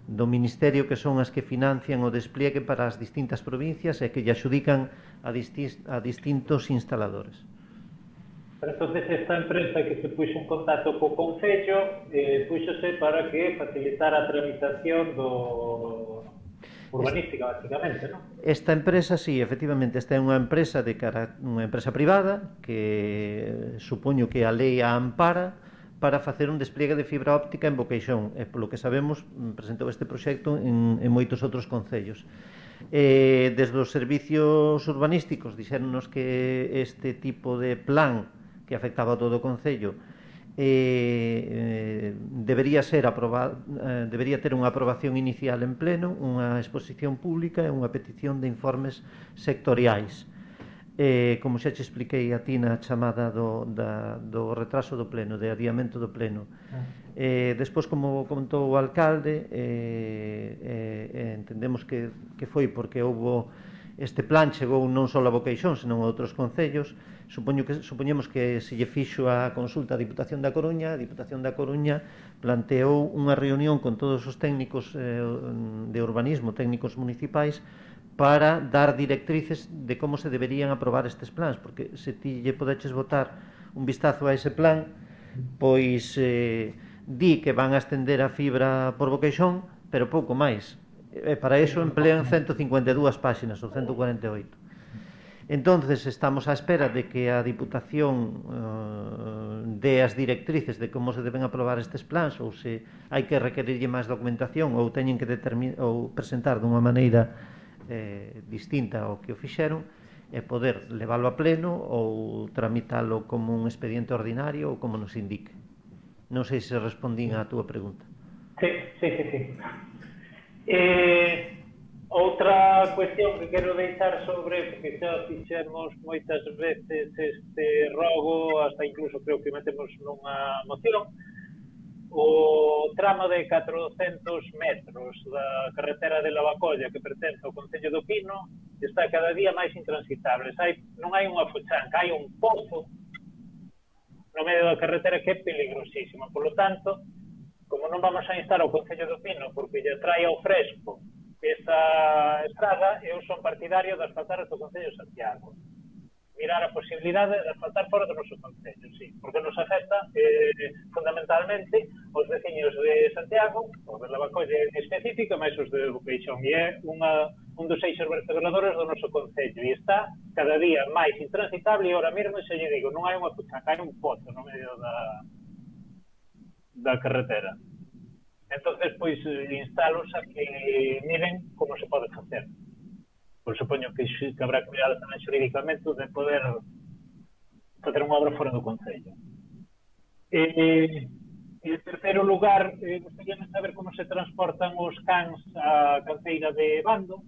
do Ministerio, que son as que financian o despliegue para as distintas provincias e que lle axudican a, distis, a distintos instaladores. Pero entonces esta empresa que se puxo en contacto co Concello eh, puxose para que facilitara a tramitación do urbanística, basicamente, non? Esta empresa, sí, efectivamente, esta é unha empresa de cara, unha empresa privada que supoño que a lei a ampara para facer un despliegue de fibra óptica en Boqueixón, e polo que sabemos presentou este proxecto en, en moitos outros concellos. Eh, desde os servicios urbanísticos dixéronnos que este tipo de plan que afectaba a todo o concello eh, eh, debería ser aprobado, eh, debería ter unha aprobación inicial en pleno, unha exposición pública e unha petición de informes sectoriais. Eh, como xa te expliquei a ti na chamada do, da, do retraso do pleno, de adiamento do pleno. Eh, despois, como comentou o alcalde, eh, eh, entendemos que, que foi porque houbo este plan chegou non só a Boqueixón, senón a outros concellos. Supoño que, supoñemos que se lle fixo a consulta a Diputación da Coruña, a Diputación da Coruña planteou unha reunión con todos os técnicos eh, de urbanismo, técnicos municipais, para dar directrices de como se deberían aprobar estes plans, porque se ti lle podeches botar un vistazo a ese plan, pois eh, di que van a estender a fibra por Boqueixón, pero pouco máis. E para iso emplean ciento cincuenta e dúas páxinas, ou ciento cuarenta e oito. Entonces estamos á espera de que a Diputación eh, dé as directrices de como se deben aprobar estes plans, ou se hai que requerirlle máis documentación, ou teñen que ou presentar dunha maneira eh, distinta ao que o fixeron, e poder leválo a pleno ou tramitalo como un expediente ordinario ou como nos indique. Non sei se respondín á túa pregunta. Sí, sí, sí, sí. Eh, outra cuestión que quero deixar sobre, porque xa fixemos moitas veces este rogo, hasta incluso creo que metemos nunha moción, o tramo de catrocentos metros da carretera de Lavacolla que pertence ao Concello do Pino está cada día máis intransitable. Hai, non hai unha fuchanca, hai un pozo no medio da carretera que é peligrosísima. Por lo tanto, como non vamos a instar ao Concello do Pino porque lle trae ao fresco esta estrada, eu son partidario de asfaltar o Concello de Santiago. Mirar a posibilidade de asfaltar fora do noso concello, sí, porque nos afecta eh, fundamentalmente os veciños de Santiago, os de Lavacolla en específico, máis os de Boqueixón, e é unha, un dos eixos vertebradores do noso concello, e está cada día máis intransitable, e ahora mesmo se lle digo, non hai unha puchaca, hai un pozo no medio da, da carretera. Entonces, pois, instalos a que miren como se pode facer. pois supoño que, que habrá cuidado tamén xurídicamente de poder facer unha obra fora do Concello. E, e en terceiro lugar, eh, gostaria de saber como se transportan os cans á canteira de Bando,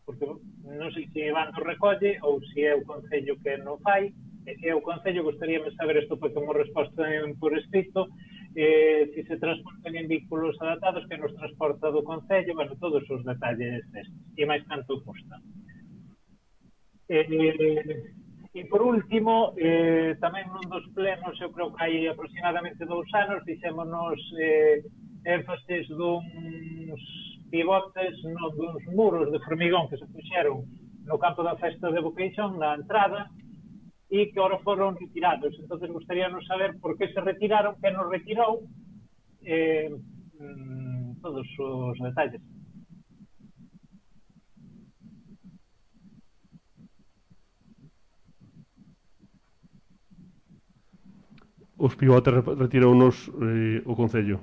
porque non sei se Bando recolle ou se é o Concello que non fai, e se é o Concello, gostaria de saber isto para como resposta por escrito, eh, se se transportan en vehículos adaptados, que nos transporta do Concello, bueno, todos os detalles estes, e máis canto custa. Eh, e por último, eh, tamén nun dos plenos, eu creo que hai aproximadamente dous anos, fixémonos eh, énfasis duns pivotes, non, duns muros de formigón que se puxeron no campo da festa de Boqueixón, na entrada, e que ahora foron retirados. Entonces, gustaríanos saber por que se retiraron, que nos retirou, eh, mm, todos os detalles. Os pivotes retirounos eh, o Concello.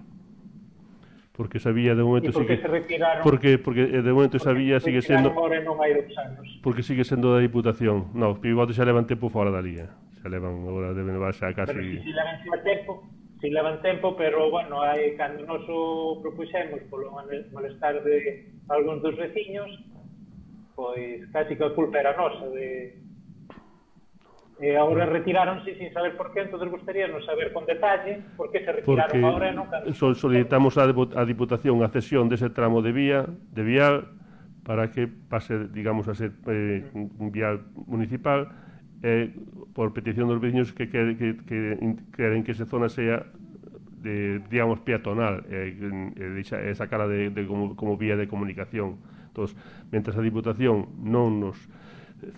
Porque sabía de momento... E por que sigue, se retiraron? Porque, porque de momento sabía sigue sendo... Non hai dos anos. Porque sigue sendo da Diputación. Non, os pivotes xa levan tempo fora da liga. Xa levan, agora deben levarse a casi... Pero si, si levan tempo, si levan tempo, pero, bueno, hai, cando nos o propuxemos polo malestar de algúns dos veciños, pois casi que a culpa era nosa de... E agora retiráronse sin saber por qué, entonces gustaríanos saber con detalle por que se retiraron Porque agora e non cando... solicitamos a Diputación a cesión dese tramo de vía, de vial, para que pase, digamos, a ser eh, un vial municipal, eh, por petición dos veciños que, que, que, que queren que esa zona sea de, digamos, peatonal, e eh, eh, esa cara de, de como, como vía de comunicación. Entonces, mentras a Diputación non nos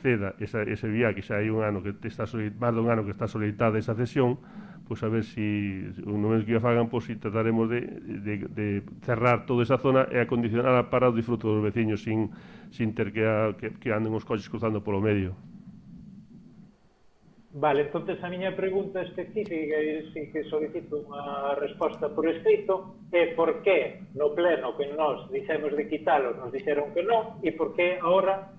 ceda esa, ese vía que xa hai un ano que está máis dun ano que está solicitada esa cesión, pois a ver se si, no mes que a fagan, pois si trataremos de, de, de cerrar toda esa zona e acondicionala para o disfruto dos veciños sin, sin ter que, a, que, que anden os coches cruzando polo medio. Vale, entonces a miña pregunta específica e si que solicito unha resposta por escrito é por que no pleno que nos dixemos de quitalos nos dixeron que non e por que agora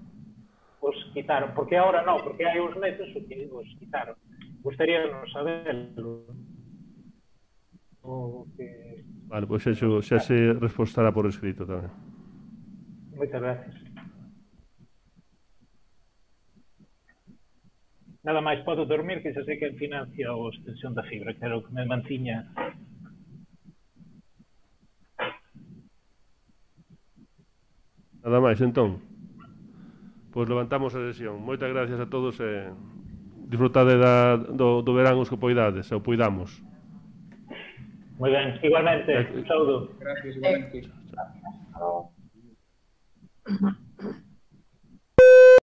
os quitaron, porque agora non, porque hai uns meses os quitaron. Gustaría non saberlo. O que... Vale, pois pues eso xa se respostará por escrito tamén. Moitas gracias. Nada máis podo dormir, que xa sei que financia a extensión da fibra, que era o que me mantiña. Nada máis, entón. Pois levantamos a sesión. Moitas gracias a todos e disfrutade da, do, do verán os que poidades, e o poidamos. Moi ben, igualmente. Un saúdo. Gracias, igualmente. Chao.